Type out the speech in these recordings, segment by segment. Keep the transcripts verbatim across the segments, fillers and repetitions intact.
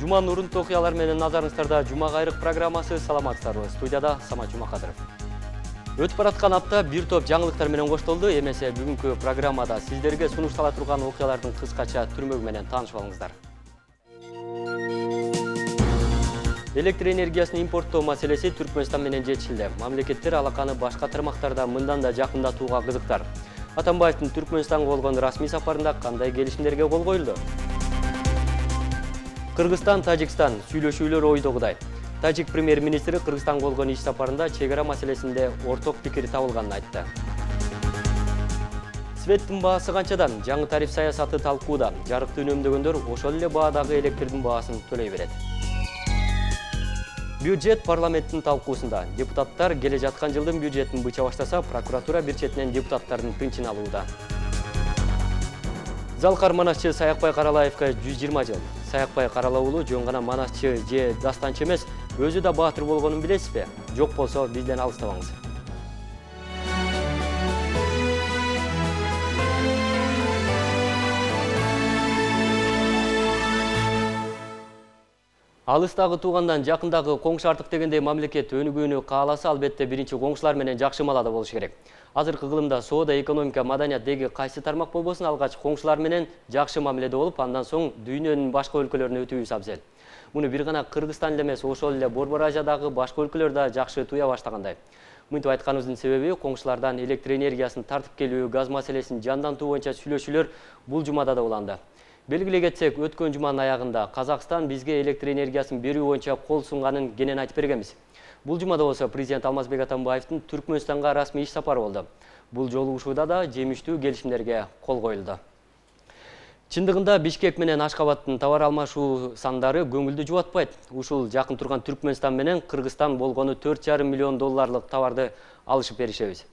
Жуманын урунтуу окуялар менен назарыңыздарда Жума кайрык программасы. Саламатсыздарбы? Студияда Самат Жумакадыров. Өтүп бараткан апта бир топ жаңылыктар менен коштолду. Эмесе бүгүнкү программада сиздерге сунуштала турган окуялардын кыскача түрмөгү менен таанышып алыңыздар. Электр энергиясын импорттоо маселеси Түркмөнстан менен чечилди. Мамлекеттер алаканы башка тармактарда мындан да жакындатууга кызыктар. Атамбаевдин Түркмөнстанга болгон расмий сапарында кандай келишимдерге кол коюлду? Кыргызстан, Тажикстан сүйлөшүүлөр ойдогудай. Тажик премьер-министри Кыргызстанга болгон иш сапарында чек ара маселесинде орток пикир табылганын айтты. Светтин баасы канчадан? Жаңы тариф саясаты талкууда. Жарыкты үнөмдөгөндөр ошол эле баадагы электрдин баасын төлөй берет. Бюджет парламенттин талкуусунда. Депутаттар келе жаткан жылдын бюджетин быча баштаса, прокуратура бир четинен депутаттардын тынчын алууда. Залкар манасчы Саякбай Каралаевга жүз жыйырма жыл. Саякбай Каралаулу жөн гана манасчы же дастанчы эмес, өзү да баатыр болгонун билесизби? Жок болсо бизден алыстабаңыз. Алыстагы туугандан жакындагы коңшу артык дегендей мамлекет өнүгүүнү кааласа, албетте биринчи коңшулар менен жакшы маалада болуш керек. Азыркы кылымда соода, экономика, маданият деги кайсы тармак болбосун алгач коңшулар менен жакшы мамиледе болуп, андан соң дүйнөнүн башка өлкөлөрүнө өтүүбүз абзел. Муну бир гана Кыргызстан эле эмес, ошол эле Борбор Азиядагы башка өлкөлөр да жакшы туя баштагандай. Мынтип айтканыбыздын себеби коңшулардан электр энергиясын тартып келүү, газ маселесин жандантуу боюнча сүйлөшүүлөр бул жумада да уланды. Белгилей кетсек, өткөн жуманын аягында Казакстан бизге электр энергиясын берүү боюнча кол сунганын кенен айтып бергенбиз. Бул жумада болсо президент Алмазбек Атамбаевдин Түркмөнстанга расмий иш сапары болду. Бул жолугушууда да жемиштүү келишимдерге кол коюлду. Чындыгында Бишкек менен Ашкабадтын товар алмашуу сандары көңүлдү жубатпайт. Ушул жакын турган Түркмөнстан менен Кыргызстан болгону төрт жарым миллион долларлык товарды алышып беришебиз.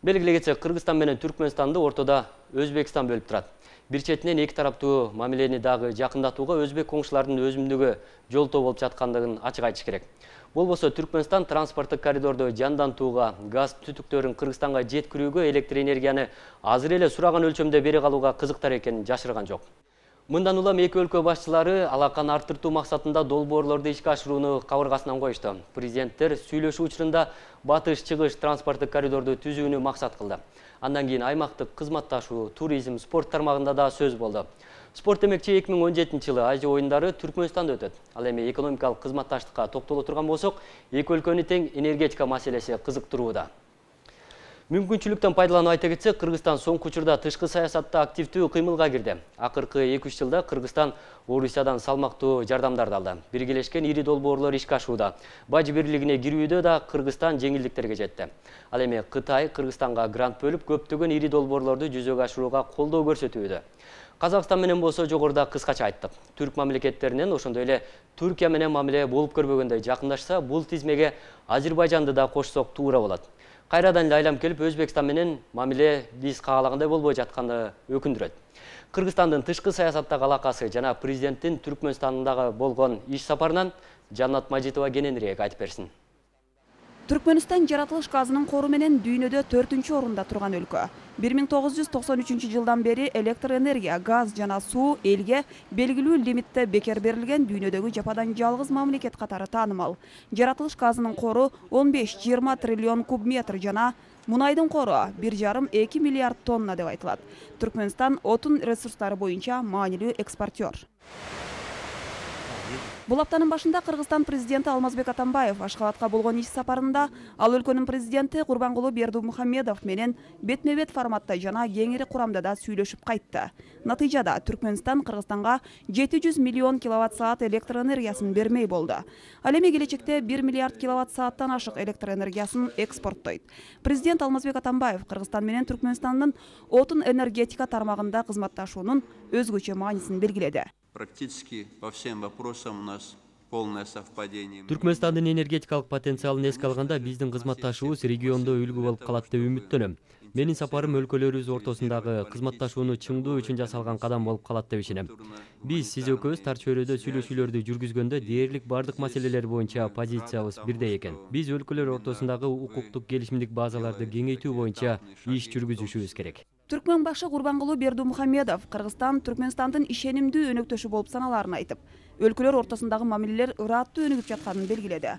Белгилей кетсек, Кыргызстан менен Түркмөнстанды ортодо Өзбекстан бөлүп турат. Бир четинен эки тараптуу мамилени дагы жакындатууга өзбек коңшулардын өзүмдүгү жолтоо болуп жаткандыгын ачык айтыш керек. Болбосо Түркмөнстан транспорттук коридорду жандантууга, газ түтүктөрүн Кыргызстанга жеткирүүгө электр энергияны азыр эле сураган өлчөмдө бере калууга кызыктар экенин жашырган жок. Мындан улам эки өлкө башчылары алаканы арттыруу максатында долбоорлорду ишке ашырууну кабыргасынан коюшту. Президенттер сүйлөшүү учурунда батыш-чыгыш транспорттук коридорду түзүүнү максат кылды. Андан кийин аймактык кызматташуу, туризм, спорт тармагында да сөз болду. Спорт демекчи эки миң он жетинчи жылы Азия оюндары Түркмөнстанда өтөт. Ал эми экономикалык кызматташтыкка токтоло турган болсок, эки өлкөнү тең энергетика маселеси кызыктырууда. Мүмкүнчүлүктөн пайдаланып айта кетсек, Кыргызстан соңку учурда тышкы саясатта активдүү кыймылга кирди. Акыркы эки үч жылда Кыргызстан Орусиядан салмактуу жардамдарды алды. Биргелешкен ири долбоорлор ишке ашууда. Бажы бирлигине кирүүдө да Кыргызстан жеңилдиктерге жетти. Ал эми Кытай Кыргызстанга грант бөлүп, көптөгөн ири долбоорлорду жүзөгө ашырууга колдоо көрсөтүүдө. Казакстан менен болсо жогоруда кыскача айттык. Түрк мамлекеттеринен, ошондой эле Түркия менен мамиле болуп көрбөгөндөй жакындашса, бул тизмеге Азербайжанды да кошсок туура болот. Кайрадан эле айлам келип, Өзбекстан менен мамиле биз каалагандай болбой жатканы өкүндүрөт. Кыргызстандын тышкы саясаттагы алакасы жана президенттин Түркмөнстандагы болгон иш сапарынан Жаннат Мажитова кененирээк айтып берсин. Түркмөнстан жаратылыш газынын кору менен дүйнөдө төртүнчү орунда турган өлкө. бир миң тогуз жүз токсон үчүнчү жылдан бери электр энергия, газ жана суу элге белгилүү лимитте бекер берилген дүйнөдөгү жападан жалгыз мамлекет катары таанымал. Жаратылыш газынын кору он беш жыйырма триллион куб метр жана мунайдын кору бир жарым эки миллиард тонна деп айтылат. Түркмөнстан отун ресурстары боюнча маанилүү экспортер. Бул аптанын башында Кыргызстан президенти Алмазбек Атамбаев Ашкабадка болгон иш сапарында ал өлкөнүн президенти Курбангулуу Бердимухамедов менен бетме-бет форматта жана кеңири курамда да сүйлөшүп кайтты. Натыйжада Түркмөнстан Кыргызстанга жети жүз миллион киловатт саат электр энергиясын бермей болду. Ал эми келечекте бир миллиард киловатт сааттан ашык электр энергиясын экспорттойт. Президент Алмазбек Атамбаев Кыргызстан менен Түркмөнстандын отун энергетика тармагында кызматташуунун өзгөчө маанисин белгиледи. Практически по всем вопросам у нас полное совпадение. Түркмөнстандын энергетикалык потенциалын эске алганда биздин кызматташуубуз региондо үлгү болуп калат деп үмүттөнөм. Менин сапарым өлкөлөрүбүз ортосундагы кызматташууну чыңдоо үчүн жасалган кадам болуп калат деп ишенем. Биз сиз экөөбүз тар чөйрөдө сүйлөшүүлөрдү жүргүзгөндө дээрлик бардык маселелер боюнча позициябыз бирдей экен. Биз өлкөлөр ортосундагы укуктук келишимдик базаларды кеңейтүү боюнча иш жүргүзүшүбүз керек. Түркмөн башы Гурбангулу Бердумухамедов Кыргызстан Түркмөнстандын ишенимдүү өнөктөшү болуп саналарын айтып, өлкөлөр ортосундагы мамилелер ыраттуу өнүгүп жатканын белгиледи.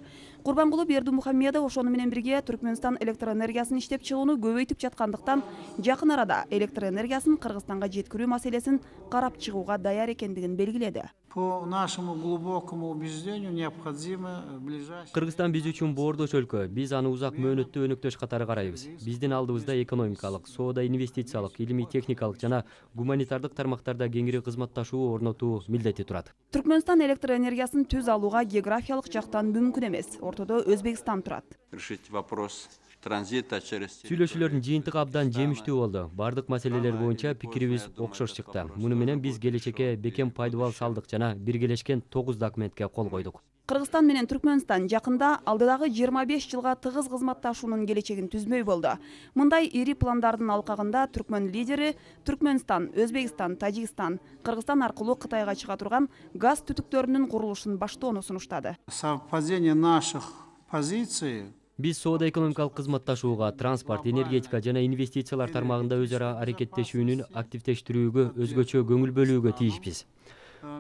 Гурбангулу Бердумухамедов ошону менен бирге Түркмөнстан электр энергиясын иштеп чыгууну көбөйтүп жаткандыктан, жакын арада электр энергиясын Кыргызстанга жеткирүү маселесин карап чыгууга даяр экендигин белгиледи. По нашему глубокому убеждению необходимо ближайшее... Кыргызстан биз үчүн боордош өлкө. Биз аны узак мөөнөттүү өнөктөш катары карайбыз. Биздин алдыбызда экономикалык, соода, инвестициялык, илимий техникалык жана гуманитардык тармактарда кеңири кызматташуу орнотуу милдети турат. Түркмөнстан электр энергиясын түз алууга географиялык жактан мүмкүн эмес. Ортодо Өзбекстан турат. Решить вопрос транзита через... Сүйлөшүүлөрдүн жыйынтыгы абдан жемиштүү болду. Бардык маселелер боюнча пикирибиз окшош чыкты. Муну менен биз келечекке бекем пайдубал салдык жана биргелешкен тогуз документке кол койдук. Кыргызстан менен Түркмөнстан жакында алдыдагы жыйырма беш жылга тыгыз кызматташуунун келечегин түзмөй болду. Мындай ири пландардын алкагында түркмөн лидери Түркмөнстан, Өзбекстан, Тажикстан, Кыргызстан аркылуу Кытайга чыга турган газ түтүктөрүнүн курулушун баштоону сунуштады. Совпадение наших позиций. Биз соода экономикалык кызматташууга, транспорт, энергетика жана инвестициялар тармагында өз ара аракеттешүүнүн активдештирүүгө, өзгөчө көңүл бөлүүгө тийишпиз.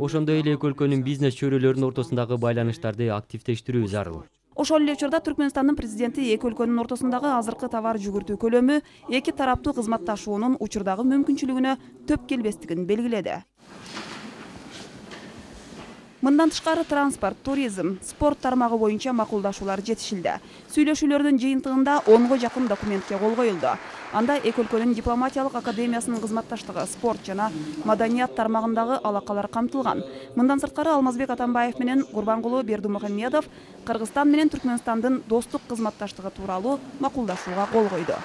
Ошондой эле эки өлкөнүн бизнес чөйрөлөрүнүн ортосундагы байланыштарды активдештирүү зарыл. Ошол эле учурда Түркмөнстандын президенти эки өлкөнүн ортосундагы азыркы товар жүгүртүү көлөмү эки тараптуу кызматташуунун учурдагы мүмкүнчүлүгүнө төп келбестигин белгиледи. Мындан тышкары транспорт, туризм, спорт тармагы боюнча макулдашуулар жетишилди. Сүйлөшүүлөрдүн жыйынтыгында онго жакын документке кол коюлду. Анда эки өлкөнүн дипломатиялык академиясынын кызматташтыгы, спорт жана маданият тармагындагы алакалар камтылган. Мындан сырткары Алмазбек Атамбаев менен Гурбангулу Бердумухамедов Кыргызстан менен Түркмөнстандын достук кызматташтыгы тууралуу макулдашууга кол койду.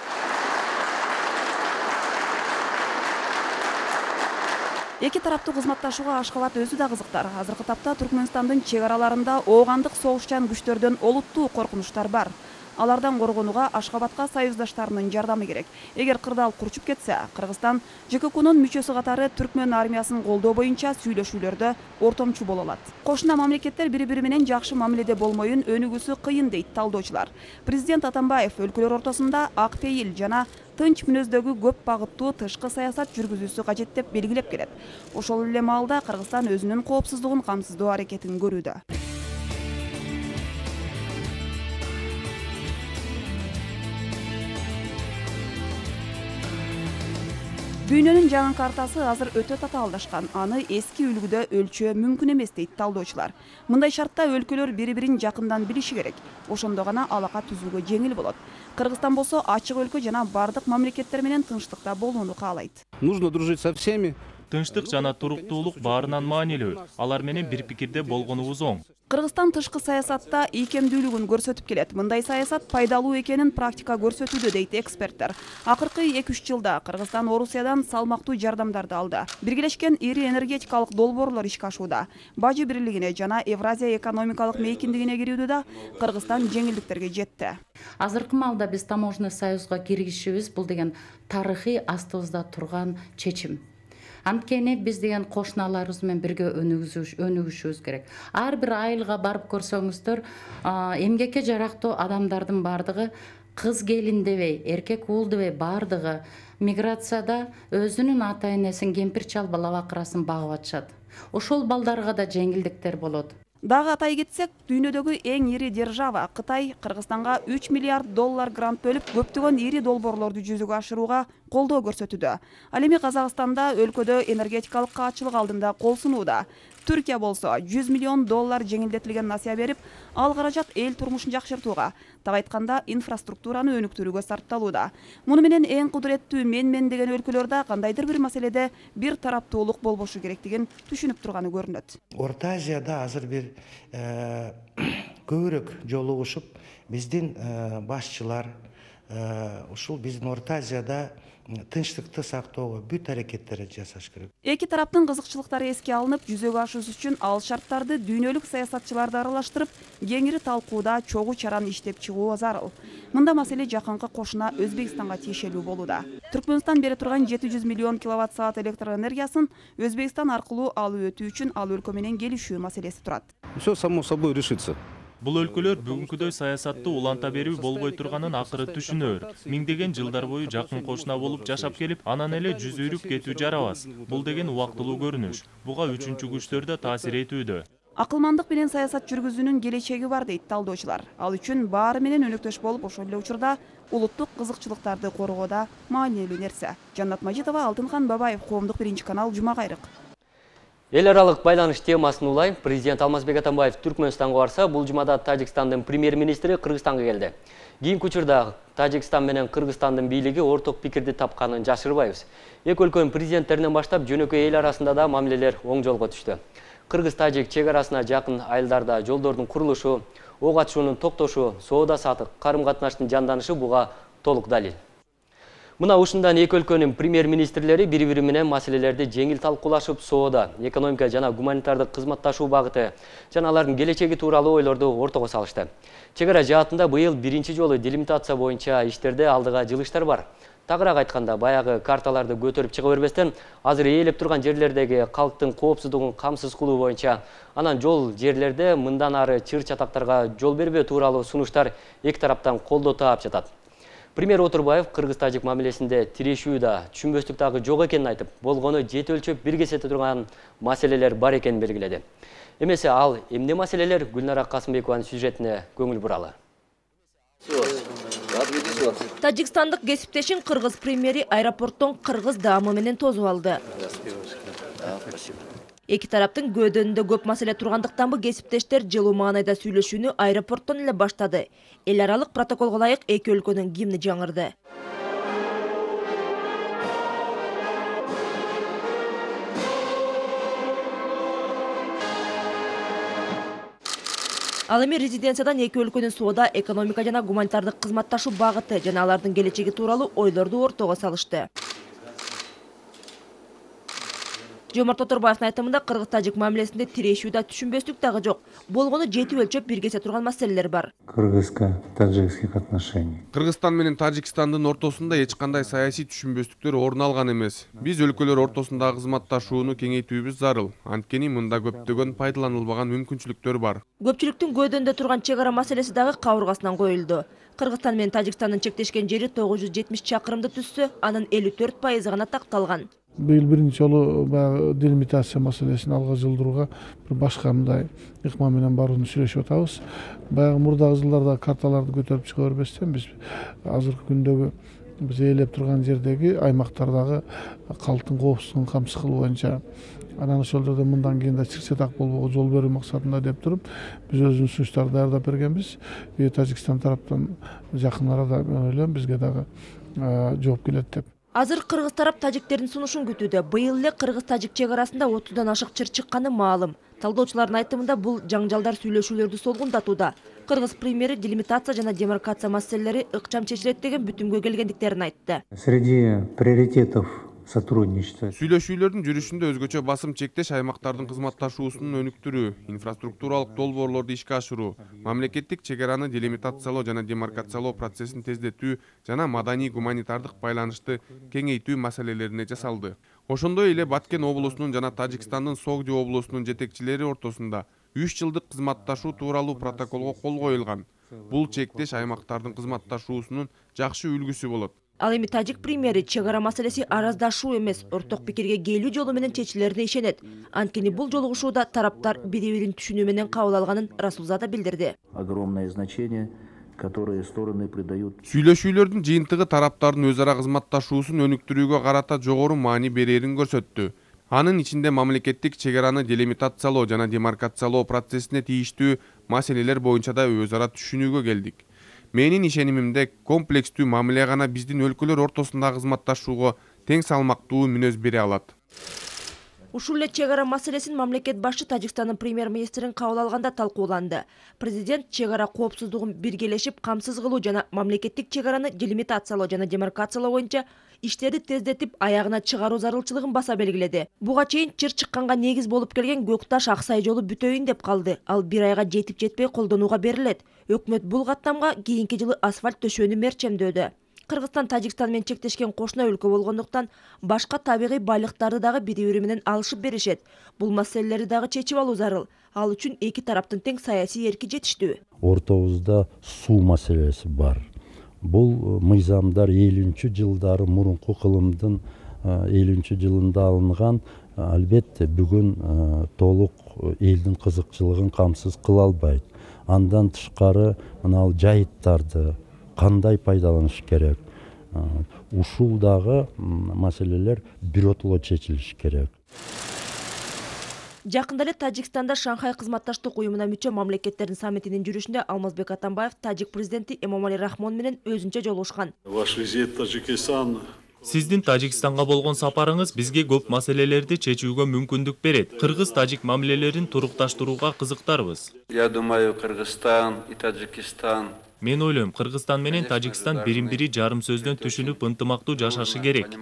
Эки тараптуу кызматташууга Ашкабад өзү да кызыктар. Азыркы тапта Түркмөнстандын чек араларында оогандык согушчан күчтөрдөн олуттуу коркунучтар бар. Алардан коргонууга Ашкабадка союздаштарынын жардамы керек. Эгер кырдаал курчуп кетсе, Кыргызстан ЖККнун мүчөсү катары түркмөн армиясын колдоо боюнча сүйлөшүүлөрдө ортомчу боло алат. Кошуна мамлекеттер бири-бири менен жакшы мамиледе болмоюн өнүгүүсү кыйын дейт талдоочулар. Президент Атамбаев өлкөлөр ортосунда ак пейил жана тынч мүнөздөгү көп багыттуу тышкы саясат жүргүзүүсү кажет деп белгилеп келет. Ошол эле маалда Кыргызстан өзүнүн коопсуздугун камсыздоо аракетин көрүүдө. Дүйнөнүн жаңы картасы азыр өтө татаалдашкан. Аны эски үлгүдө өлчөө мүмкүн эмес дейт талдоочулар. Мындай шартта өлкөлөр бири-бирин жакындан билиши керек. Ошондо гана алака түзүүгө жеңил болот. Кыргызстан болсо ачык өлкө жана бардык мамлекеттер менен тынчтыкта болууну каалайт. Нужно дружить со всеми. Тынчтык жана туруктуулук баарынан маанилүү. Алар менен бир пикирде болгонубуз оң. Кыргызстан тышкы саясатта ийкемдүүлүгүн көрсөтүп келет. Мындай саясат пайдалуу экенин практика көрсөтүүдө дейт эксперттер. Акыркы эки үч жылда Кыргызстан Орусиядан салмактуу жардамдарды алды. Биргелешкен ири энергетикалык долбоорлор ишке ашууда. Бажы бирлигине жана Евразия экономикалык мейкиндигине кирүүдө да Кыргызстан жеңилдиктерге жетти. Азыркы маалда биз таможенный союзга киргизишибиз бул деген тарыхый астыбызда турган чечим. Анткени биз деген кошуналарыбыз менен бирге өнүгүшүбүз керек. Ар бир айылга барып көрсөңүздөр, эмгекке жарактуу адамдардын бардыгы кыз келин дебей, эркек уул дебей бардыгы миграцияда өзүнүн ата энесин, кемпир чал бала бакырасын багып атышат. Ошол балдарга да жеңилдиктер болот. Дагы атай кетсек, дүйнөдөгү эң ири держава Кытай Кыргызстанга үч миллиард доллар грант бөлүп, көптөгөн ири долбоорлорду жүзөгө ашырууга колдоо көрсөтүүдө. Ал эми Казакстанда өлкөдө энергетикалык каатчылык алдында кол сунууда. Түркия болсо жүз миллион доллар жеңилдетилген насыя берип, ал каражат эл турмушун жакшыртууга, так айтканда инфраструктураны өнүктүрүүгө сарпталууда. Муну менен эң кудуреттүү мен-мен деген өлкөлөрдө кандайдыр бир маселеде бир тараптуулук болбошу керектигин түшүнүп турганы көрүнөт. Орта Азияда азыр бир көбүрөөк жолугушуп, биздин башчылар ушул биздин Орта Азияда тынчтыкты сактоого бүт аракеттерди жасаш керек. Эки тараптын кызыкчылыктары эске алынып, жүзөгө ашуусу үчүн ал шарттарды дүйнөлүк саясатчыларды аралаштырып, кеңири талкууда чогуу чараны иштеп чыгуу зарыл. Мында маселе жакынкы кошуна Өзбекстанга тиешелүү болууда. Түркмөнстан бере турган жети жүз миллион киловатт саат электр энергиясын Өзбекстан аркылуу алып өтүү үчүн ал өлкө менен келишүү маселеси турат. Все само собой решится. Бул өлкөлөр бүгүнкүдөй саясатты уланта берүү болбой турганын акыры түшүнөр. Миңдеген жылдар бою жакын кошуна болуп жашап келип, анан эле жүзүрүп кетүү жарабас. Бул деген убактылуу көрүнүш. Буга үчүнчү күчтөр да таасир этүүдө. Акылмандык менен саясат жүргүзүүнүн келечеги бар дейт талдоочулар. Ал үчүн баары менен өнөктөш болуп, ошол эле учурда улуттук кызыкчылыктарды коргоодо маанилүү нерсе. Жаннат Мажитова, Алтынхан Бабаев, Коомдук биринчи канал, Жума кайрык. Эл аралык байланыш темасын улай президент Алмазбек Атамбаев Түркмөнстанга барса, бул жумада Тажикстандын премьер-министри Кыргызстанга келди. Кийинки учурда Тажикстан менен Кыргызстандын бийлиги орток пикирди тапканын жашырбайбыз. Эки өлкөнүн президенттеринен баштап жөнөкөй эл арасында да мамилелер оң жолго түштү. Кыргыз-Тажик чек арасына жакын айылдарда жолдордун курулушу, ок атышуунун токтошу, соода-саттык карым-катнаштын жанданышы буга толук далил. Мына ушундан эки өлкөнүн премьер-министрлери бири-бири менен маселелерди жеңил талкуулашып, соода, экономика жана гуманитардык кызматташуу багыты жана алардын келечеги тууралуу ойлорду ортого салышты. Чек ара жаатында быйыл биринчи жолу делимитация боюнча иштерде алдыга жылыштар бар. Тагыраак айтканда, баягы карталарды көтөрүп чыга бербестен, азыр ээлеп турган жерлердеги калктын коопсуздугун камсыз кылуу боюнча, анан жол жерлерде мындан ары чыр-чатактарга жол бербөө тууралуу сунуштар эки тараптан колдоо таап жатат. Премьер Отурбаев Кыргыз-Тажик мамилесинде тирешүү да, түшүнбөстүк дагы жок экенин айтып, болгону жети өлчөп бир кесете турган маселелер бар экенин белгиледи. Эмесе ал эмне маселелер? Гүлнара Касымбекованын сюжетине көңүл буралы. Тажикстандык кесиптешин кыргыз премьери аэропорттон кыргыз даамы менен тосуп алды. Эки тараптын көөдөнүндө көп маселе тургандыктан бу кесиптештер жылуу маанайда сүйлөшүүнү аэропорттон эле баштады. Эл аралык протоколго ылайык эки өлкөнүн гимни жаңырды. Ал эми резиденциядан эки өлкөнүн соода, экономика жана гуманитардык кызматташуу багыты жана алардын келечеги тууралуу ойлорду ортого салышты. Жомарт Отурбаевдин айтымында Кыргыз-Тажик мамилесинде тирешүү да, түшүнбөстүк дагы жок. Болгону жети өлчөп бир кесе турган маселелер бар. Кыргызско-таджикских отношений. Кыргызстан менен Тажикстандын ортосунда эч кандай саясий түшүнбөстүктөр орун алган эмес. Биз өлкөлөр ортосундагы кызматташууну кеңейтүүбүз зарыл. Анткени мында көптөгөн пайдаланылбаган мүмкүнчүлүктөр бар. Көпчүлүктүн көөдөнүндө турган чек ара маселеси дагы кабыргасынан коюлду. Кыргызстан менен Тажикстандын чектешкен жери тогуз жүз жетимиш чакырымды түзсө, анын элүү төрт пайызы гана такталган. Быйыл биринчи жолу баягы делимитация маселесин алга жылдырууга бир башка мындай ыкма менен барууну сүйлөшүп атабыз. Баягы мурдагы жылдарда карталарды көтөрүп чыга бербестен биз азыркы күндөгү биз ээлеп турган жердеги аймактардагы калктын коопсуздугун камсыз кылуу боюнча, анан ошол жерде мындан кийин да чыр-чатак болбогу жол берүү максатында деп туруп биз өзүбүз сунуштарды даярдап бергенбиз. Тажикстан тараптан жакын арада ойлойм бизге дагы жооп келет деп. Азыр кыргыз тарап тажиктердин сунушун күтүүдө. Быйыл эле кыргыз-тажик чек арасында отуздан ашык чыр чыкканы маалым. Талдоочулардын айтымында бул жаңжалдар сүйлөшүүлөрдү солгундатууда. Кыргыз премьери делимитация жана демаркация маселелери ыкчам чечилет деген бүтүмгө келгендиктерин айтты. Среди приоритетов сотрудничества. Сүйлөшүүлөрдүн жүрүшүндө өзгөчө басым чектеш аймактардын кызматташуусунун өнүктүрүү, инфраструктуралык долбоорлорду ишке ашыруу, мамлекеттик чек араны делимитациялоо жана демаркациялоо процессин тездетүү жана маданий гуманитардык байланышты кеңейтүү маселелерине жасалды. Ошондой эле Баткен облусунун жана Тажикстандын Согди облусунун жетекчилери ортосунда үч жылдык кызматташуу тууралуу протоколго кол коюлган. Бул чектеш аймактардын кызматташуусунун жакшы үлгүсү болот. Ал эми тажик премьери чек ара маселеси араздашуу эмес, орток пикирге келүү жолу менен чечилерине ишенет. Анткени бул жолугушууда тараптар бири-бирин түшүнүү менен кабыл алганын Расулзада билдирди. Огромное значение, которые стороны придают. Сүйлөшүүлөрдүн жыйынтыгы тараптардын өз ара кызматташуусун өнүктүрүүгө карата жогору маани берерин көрсөттү. Анын ичинде мамлекеттик чек араны делимитациялоо жана демаркациялоо процессине тийиштүү маселелер боюнча да өз ара түшүнүүгө келдик. Менин ишенимимде комплекстүү мамиле гана биздин өлкөлөр ортосундагы кызматташууга тең салмактуу мүнөз бере алат. Ушул эле чек ара маселесин мамлекет башчы Тажикстандын премьер-министрин кабыл алганда талкууланды. Президент чек ара коопсуздугун биргелешип камсыз кылуу жана мамлекеттик чек араны делимитациялоо жана демаркациялоо боюнча иштерди тездетип аягына чыгаруу зарылчылыгын баса белгиледи. Буга чейин чыр чыкканга негиз болуп келген Көкташ Аксай жолу бүтөйүн деп калды. Ал бир айга жетип жетпей колдонууга берилет. Өкмөт бул каттамга кийинки жылы асфальт төшөөнү мерчемдөдү. Кыргызстан Тажикстан менен чектешкен кошуна өлкө болгондуктан башка табигый байлыктарды дагы бири-бири менен алышып беришет. Бул маселелерди дагы чечип алуу зарыл. Ал үчүн эки тараптын тең саясий эрки жетиштүү. Ортобузда суу маселеси бар. Бул мыйзамдар элүүнчү жылдары мурунку кылымдын элүүнчү жылында алынган, албетте бүгүн толук элдин кызыкчылыгын камсыз кыла албайт. Андан тышкары мына жайыттарды кандай пайдаланыш керек? Ушул дагы маселелер биротоло чечилиш керек. Жакында эле Тажикстанда Шанхай кызматташтык уюмуна мүчө мамлекеттердин саммитинин жүрүшүндө Алмазбек Атамбаев тажик президенти Эмомали Рахмон менен өзүнчө жолугушкан. Ваш визит в Таджикистан Сиздин Тажикстанга болгон сапарыңыз бизге көп маселелерди чечүүгө мүмкүндүк берет. Кыргыз-тажик мамилелерин турукташтырууга кызыктарбыз. Я думаю, Кыргызстан и Таджикистан. Мен ойлойм, Кыргызстан менен Тажикстан бирин-бири жарым сөздөн түшүнүп, ынтымактуу жашашы керек.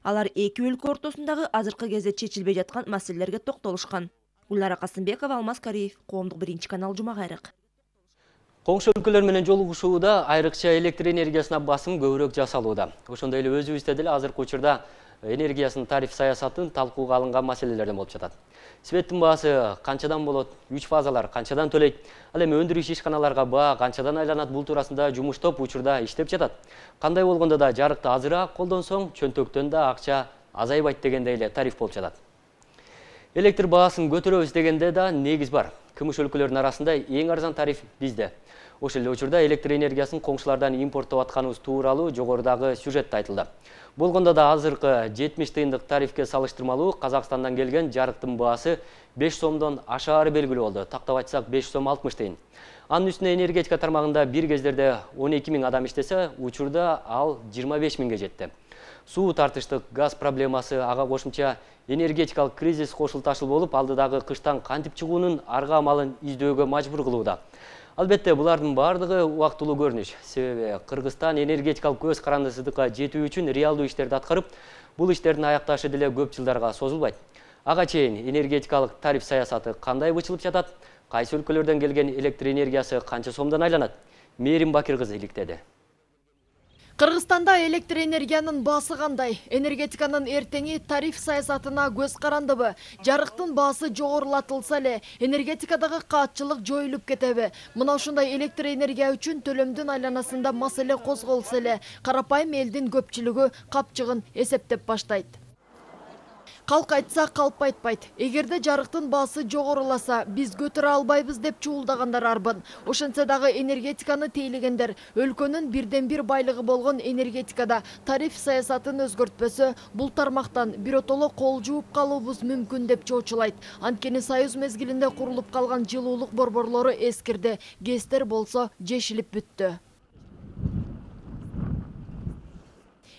Алар эки өлкө ортосундагы азыркы кезде чечилбей жаткан маселелерге токтолушкан. Гүлнара Касымбекова, Алмаз Кариев, Коомдук биринчи канал, Жума кайрык. Коңшу өлкөлөр менен жолугушууда айрыкча электр энергиясына басым көбүрөөк жасалууда. Ошондой эле өзүбүздө деле азыркы учурда энергиясынын тариф саясатын талкууга алынган маселелерден болуп жатат. Светтин баасы канчадан болот, үч фазалар канчадан төлөйт, ал эми өндүрүш ишканаларга баа канчадан айланат, бул туурасында жумуш топ учурда иштеп жатат. Кандай болгондо да жарыкты азыраак колдонсоң, чөнтөктөн да акча азайбайт дегендей эле тариф болуп жатат. Электр баасын көтөрөбүз дегенде да негиз бар. Кымыш өлкөлөрдүн арасында эң арзан тариф бизде. Ошол эле учурда электр энергиясын коңшулардан импорттоп атканыбыз тууралуу жогорудагы сюжетте айтылды. Болгондо да азыркы жетимиш тыйындык тарифке салыштырмалуу Казакстандан келген жарыктын баасы беш сомдон ашаары белгилүү болду. Тактап айтсак беш сом алтымыш тыйын. Анын үстүнө энергетика тармагында бир кездерде он эки миң адам иштесе, учурда ал жыйырма беш миңге жетти. Суу тартыштык, газ проблемасы, ага кошумча энергетикалык кризис кошулташыл болуп, алдыдагы кыштан кантип чыгуунун арга амалын издөөгө мажбур кылууда. Албетте, булардын бардыгы убактылуу көрүнүш. Себеби Кыргызстан энергетикалык көз карандысыздыкка жетүү үчүн реалдуу иштерди аткарып, бул иштердин аякташы деле көп жылдарга созулбайт. Ага чейин энергетикалык тариф саясаты кандай бычылып жатат? Кайсы өлкөлөрдөн келген электр энергиясы канча сомдон айланат? Мээрим Бакир кызы иликтеди. Кыргызстанда электр энергиянын баасы кандай? Энергетиканын эртеңи тариф саясатына көз карандыбы? Жарыктын баасы жогорулатылса эле, энергетикадагы каатчылык жоюлуп кетеби? Мына ушундай электр энергия үчүн төлөмдүн айланасында маселе козголсо эле, карапайым элдин көпчүлүгү капчыгын эсептеп баштайт. Калк айтса калп айтпайт. Эгерде жарыктын баасы жогоруласа, биз көтөрө албайбыз деп чуулдагандар арбын. Ошентсе дагы энергетиканы тейлегендер өлкөнүн бирден бир байлыгы болгон энергетикада тариф саясатын өзгөртпөсө, бул тармактан биротоло кол жууп калуубуз мүмкүн деп чоочулайт. Анткени Союз мезгилинде курулуп калган жылуулук борборлору эскирди, ГЭСтер болсо жешилип бүттү.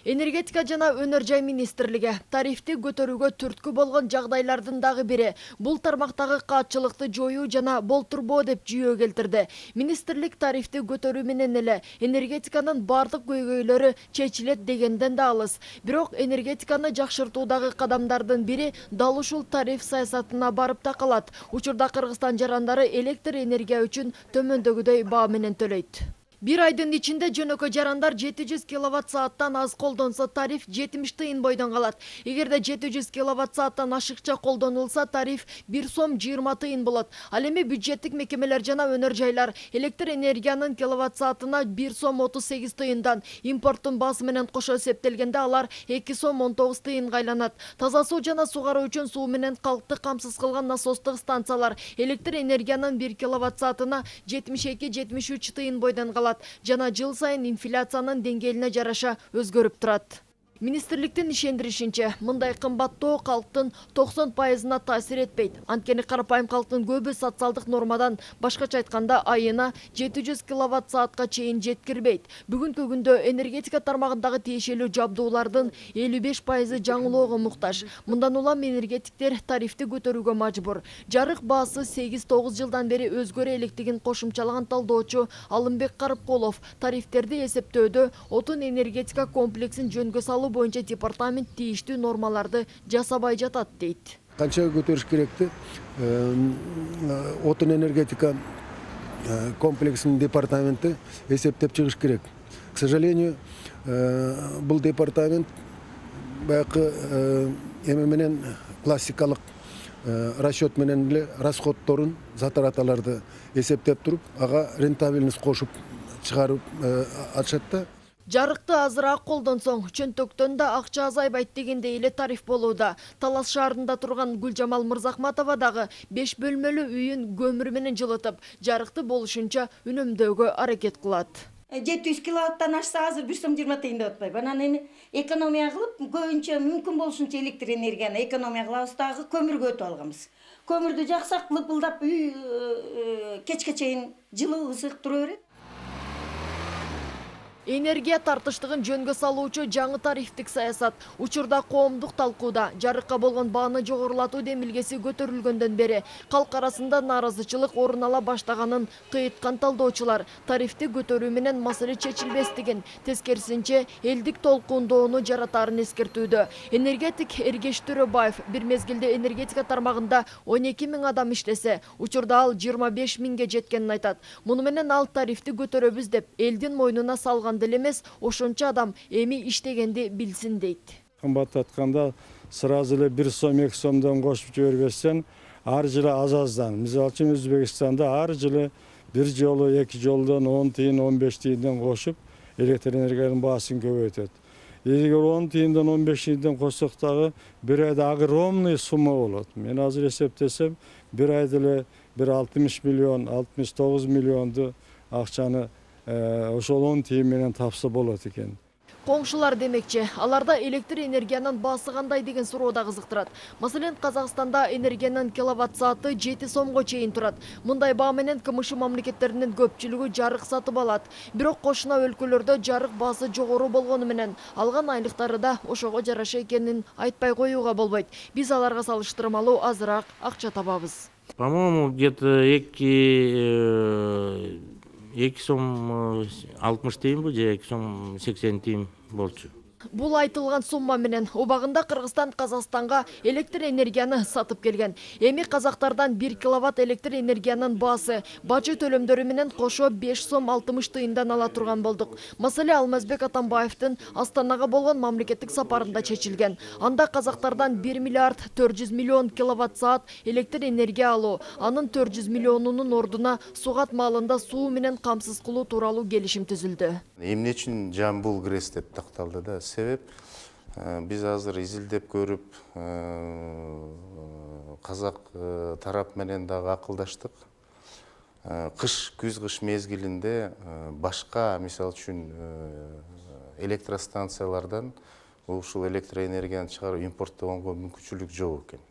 Энергетика жана өнөр жай министрлиги тарифти көтөрүүгө түрткү болгон жагдайлардын дагы бири бул тармактагы каатчылыкты жоюу жана болтурбоо деп жүйө келтирди. Министрлик тарифти көтөрүү менен эле энергетиканын бардык көйгөйлөрү чечилет дегенден да алыс. Бирок энергетиканы жакшыртуудагы кадамдардын бири дал ушул тариф саясатына барып такалат. Учурда Кыргызстан жарандары электр энергия үчүн төмөндөгүдөй баа менен төлөйт. Бир айдын ичинде жөнөкөй жарандар жети жүз киловатт сааттан аз колдонсо тариф жетимиш тыйын бойдон калат. Эгерде жети жүз киловатт сааттан ашыкча колдонулса тариф бир сом жыйырма тыйын болот. Ал эми бюджеттик мекемелер жана өнөр жайлар электр энергиянын киловатт саатына бир сом отуз сегиз тыйындан, импорттун баасы менен кошо эсептелгенде алар эки сом он тогуз тыйынга айланат. Таза суу жана сугаруу үчүн суу менен калкты камсыз кылган насостук станциялар электр энергиянын бир киловатт саатына жетимиш эки жетимиш үч тыйын бойдон калат. Жана жыл сайын инфляциянын деңгээлине жараша өзгөрүп турат. Министрликтин ишендиришинче, мындай кымбаттоо калктын токсон пайызына таасир этпейт. Анткени карапайым калктын көбү социалдык нормадан, башкача айтканда айына жети жүз киловатт саатка чейин жеткирбейт. Бүгүнкү күндө энергетика тармагындагы тиешелүү жабдуулардын элүү беш пайызы жаңылоого муктаж. Мындан улам энергетиктер тарифти көтөрүүгө мажбур. Жарык баасы сегиз тогуз жылдан бери өзгөрө электигин кошумчалаган талдоочу Алымбек Карыпкулов тарифтерди эсептөөдө отун энергетика комплексин жөнгө салуу боюнча департамент тийиштүү нормаларды жасабай жатат дейт. Канча көтөрүш керекти? Отун энергетика комплексинин департаменти эсептеп чыгыш керек. К сожалению, бул департамент баягы эме менен классикалык расчет менен эле расходторун, затраталарды эсептеп туруп, ага рентабельность кошуп чыгарып атышат да. Жарыкты азыраак колдонсоң, чөнтөктөн да акча азайбайт дегендей эле тариф болууда. Талас шаарында турган Гүлжамал Мырзахматова дагы беш бөлмөлүү үйүн көмүр менен жылытып, жарыкты болушунча үнөмдөөгө аракет кылат. жети жүз киловаттан ашса азыр бир сом жыйырма тыйын деп атпайбы. Анан эми экономия кылып, көбүнчө мүмкүн болушунча электр энергияны экономия кылабыз, дагы көмүргө өтүп алганбыз. Көмүрдү жаксак, лыпылдап үй кечке чейин жылуу ысык тура берет. Энергия тартыштыгын жөнгө салуучу жаңы тарифтик саясат учурда коомдук талкууда. Жарыкка болгон бааны жогорулатуу демилгеси көтөрүлгөндөн бери калк арасында нааразычылык орун ала баштаганын кыйыткан талдоочулар тарифти көтөрүү менен маселе чечилбестигин, тескерисинче элдик толкундоону жаратаарын эскертүүдө. Энергетик Эргеш Төрөбаев бир мезгилде энергетика тармагында он эки миң адам иштесе, учурда ал жыйырма беш миңге жеткенин айтат. Муну менен ал тарифти көтөрөбүз деп элдин мойнуна салган деле эмес, ошончо адам эми иштегенди билсин дейт. Кымбаттатканда сразу эле бир сом эки сомдон кошуп жибербестен, ар жылы аз-аздан, мисалы үчүн Өзбекстанда ар жылы бир жолу эки жолдон он тыйын он беш тыйындан кошуп электр энергиянын баасын көбөйтөт. Эгер он тыйындан он беш тыйындан кошсок дагы бир айда огромный сумма болот. Мен азыр эсептесем, бир айда эле бир алтымыш миллион, алтымыш тогуз миллионду акчаны ошол он тыйын менен тапса болот экен. Коңшулар демекчи, аларда электр энергиянын баасы кандай деген суроо да кызыктырат. Маселен, Казакстанда энергиянын киловатт сааты жети сомго чейин турат. Мындай баа менен КМШ мамлекеттеринин көпчүлүгү жарык сатып алат. Бирок кошуна өлкөлөрдө жарык баасы жогору болгону менен алган айлыктары да ошого жараша экенин айтпай коюуга болбойт. Биз аларга салыштырмалуу азыраак акча табабыз. По-моему, где-то эки эки сом алтымыш тыйынбы же эки сом сексен тыйын болчу. Бул айтылган сумма менен убагында Кыргызстан Казакстанга электр энергияны сатып келген. Эми казактардан бир киловатт электр энергиянын баасы бажы төлөмдөрү менен кошо беш сом алтымыш тыйындан ала турган болдук. Маселе Алмазбек Атамбаевдин Астанага болгон мамлекеттик сапарында чечилген. Анда казактардан бир миллиард төрт жүз миллион киловатт саат электр энергия алуу, анын төрт жүз миллионунун ордуна сугат маалында суу менен камсыз кылуу тууралуу келишим түзүлдү. Эмне үчүн Жамбыл Грэс деп такталды да? Себеп биз азыр изилдеп көрүп, казак тарап менен дагы акылдаштык. Кыш, күз-кыш мезгилинде башка, мисалы үчүн, электростанциялардан ушул электроэнергияны чыгарып импорттогонго мүмкүнчүлүк жок экен.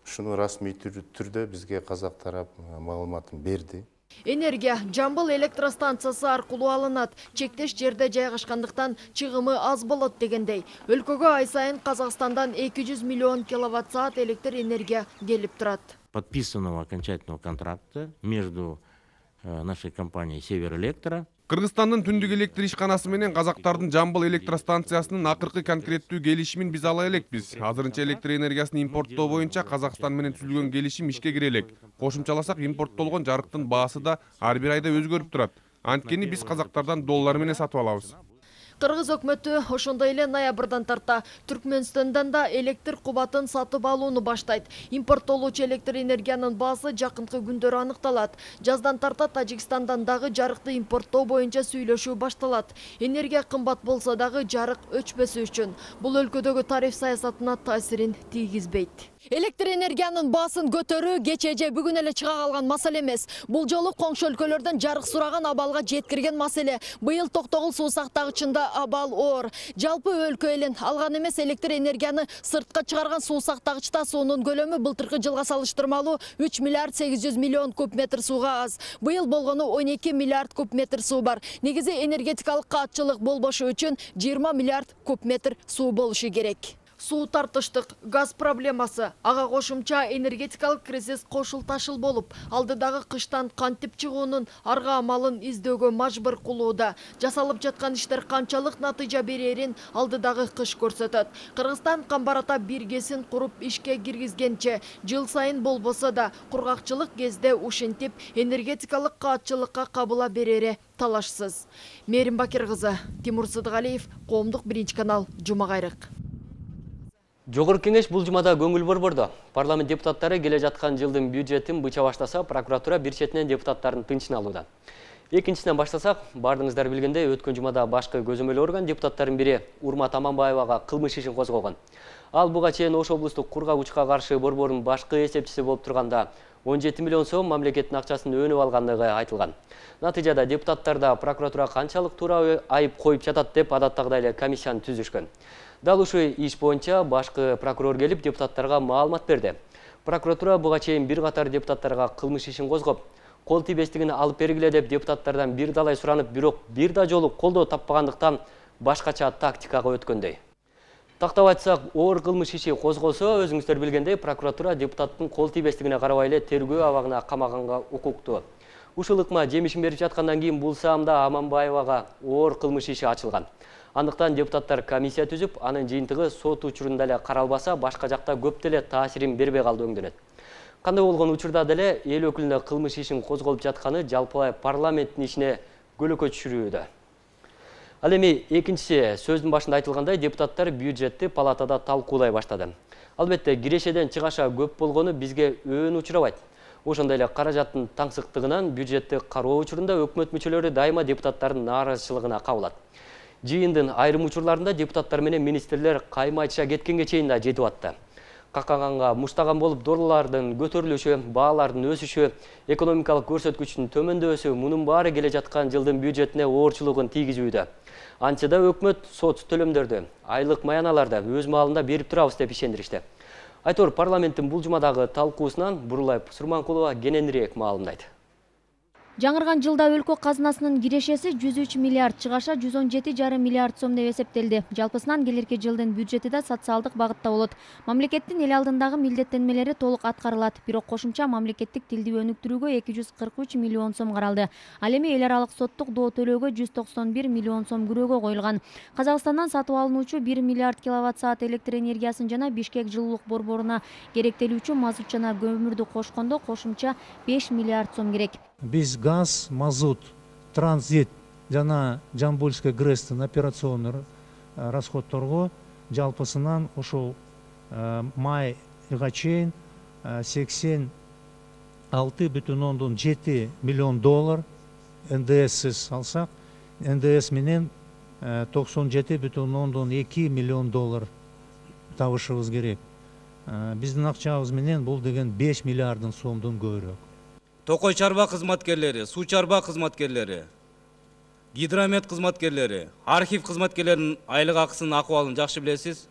Шуну расмий түрдө бизге казак тарап маалыматын берди. Энергия Жамбыл электростанциясы аркылуу алынат. Чектеш жерде жайгашкандыктан чыгымы аз болот дегендей. Өлкөгө ай сайын Казакстандан эки жүз миллион киловатт саат электр энергия келип турат. Подписанного окончательного контракта между нашей компанией Северэлектро. Кыргызстандын түндүк электр ишканасы менен казактардын Жамбыл электростанциясынын акыркы конкреттүү келишимин биз ала элекпиз. Азырынча электр энергиясын импорттоо боюнча Казакстан менен түзүлгөн келишим ишке кире элек. Кошумчаласак, импорттолгон жарыктын баасы да ар бир айда өзгөрүп турат. Анткени биз казактардан доллар менен сатып алабыз. Кыргыз өкмөтү ошондой эле ноябрдан тарта Түркмөнстөндөн да электр кубатын сатып алууну баштайт. Импорттолуучу электр энергиянын баасы жакынкы күндөрү аныкталат. Жаздан тарта Тажикстандан дагы жарыкты импорттоо боюнча сүйлөшүү башталат. Энергия кымбат болсо дагы жарык өчпөсү үчүн бул өлкөдөгү тариф саясатына таасирин тийгизбейт. Электр энергиянын баасын көтөрүү кече же бүгүн эле чыга калган маселе эмес. Бул жолу коңшу өлкөлөрдөн жарык сураган абалга жеткирген маселе. Быйыл Токтогул суу сактагычында абал оор. Жалпы өлкө элин алган эмес электр энергияны сыртка чыгарган суу сактагычта суунун көлөмү былтыркы жылга салыштырмалуу үч миллиард сегиз жүз миллион куб метр сууга аз. Быйыл болгону он эки миллиард куб метр суу бар. Негизи энергетикалык каатчылык болбошу үчүн жыйырма миллиард куб метр суу болушу керек. Суу тартыштык, газ проблемасы, ага кошумча энергетикалык кризис кошул ташыл болуп, алдыдагы кыштан кантип чыгуунун арга амалын издөөгө мажбур кылууда. Жасалып жаткан иштер канчалык натыйжа берерин алдыдагы кыш көрсөтөт. Кыргызстан Камбарата биргесин куруп ишке киргизгенче, жыл сайын болбосо да кургакчылык кезде ушинтип энергетикалык каатчылыкка кабыла берери талашсыз. Мерим Бакир кызы, Тимур Сыдыгалиев, Коомдук биринчи канал, Жума кайрык. Жогорку кеңеш бул жумада көңүл борбордо. Парламент депутаттары келе жаткан жылдын бюджетин быча баштаса, прокуратура бир четинен депутаттардын тынчын алууда. Экинчиден баштасак, бардыңыздар билгендей, өткөн жумада башкы көзөмөл орган депутаттардын бири Урмат Аманбаевага кылмыш ишин козгогон. Ал буга чейин Ош облустук кургагучка каршы борбордун башкы эсепчиси болуп турганда он жети миллион сом мамлекеттин акчасын өнүп алгандыгы айтылган. Натыйжада депутаттарда прокуратура канчалык туура айып коюп жатат деп адаттагыдай эле комиссияны түзүшкөн. Дал ушул иш боюнча башкы прокурор келип депутаттарга маалымат берди. Прокуратура буга чейин бир катар депутаттарга кылмыш ишин козгоп, кол тийбестигин алып бергиле деп депутаттардан бир далай суранып, бирок бир да жолу колдоо таппагандыктан башкача тактикага өткөндөй. Тактап айтсак, оор кылмыш иши козголсо, өзүңүздөр билгендей, прокуратура депутаттын кол тийбестигине карабай эле тергөө абагына камаганга укуктуу. Ушул ыкма жемишин берип жаткандан кийин бул саамда Аманбаевага оор кылмыш иши ачылган. Андыктан депутаттар комиссия түзүп, анын жыйынтыгы сот учурунда эле каралбаса, башка жакта көп деле таасирин бербей калды өңдөнөт. Кандай болгон учурда деле эл өкүлүнө кылмыш ишин козголуп жатканы жалпылай парламенттин ишине көлөкө түшүрүүдө. Ал эми экинчиси, сөздүн башында айтылгандай, депутаттар бюджетти палатада талкуулай баштады. Албетте, кирешеден чыгаша көп болгону бизге өөн учурабайт. Ошондой эле каражаттын таңсыктыгынан бюджетти кароо учурунда өкмөт мүчөлөрү дайыма депутаттардын нааразычылыгына кабылат. Жыйындын айрым учурларында депутаттар менен министрлер кайма айтыша кеткенге чейин да жетип атты. Какаганга муштаган болуп долларлардын көтөрүлүшү, баалардын өсүшү, экономикалык көрсөткүчтүн төмөндөшү мунун баары келе жаткан жылдын бюджетине оорчулугун тийгизүүдө. Анчада өкмөт сот төлөмдөрдү, айлык маяналарды өз маалында берип турабыз деп ишендиришти. Айтор парламенттин бул жумадагы талкуусунан Бурулай Сурманкулова кененирээк маалымдайт. Жаңырган жылда өлкө казынасынын кирешеси жүз үч миллиард, чыгаша жүз он жети жарым миллиард сом деп эсептелди. Жалпысынан келерки жылдын бюджети да социалдык багытта болот. Мамлекеттин эл алдындагы милдеттенмелери толук аткарылат. Бирок кошумча мамлекеттик тилди өнүктүрүүгө эки жүз кырк үч миллион сом каралды. Ал эми эл аралык соттук доо төлөөгө жүз токсон бир миллион сом күрөөгө коюлган. Казакстандан сатып алынуучу бир миллиард киловатт саат электр энергиясын жана Бишкек жылуулук борборуна керектелүүчү мазут жана көмүрдү кошкондо кошумча беш миллиард сом керек. Биз газ, мазут, транзит жана Жамбылская ГРЭСтин операционный расходторго жалпысынан ошол майга чейин сексен алты бүтүн ондон жети миллион доллар эн дэ эссиз алсак, эн дэ эс менен токсон жети бүтүн ондон эки миллион доллар табышыбыз керек. Биздин акчабыз менен бул деген беш миллиардын сомдон көбүрөөк. Токой чарба кызматкерлери, суу чарба кызматкерлери, гидромет кызматкерлери, архив кызматкерлеринин айлык акысынын акыбалын жакшы билесиз.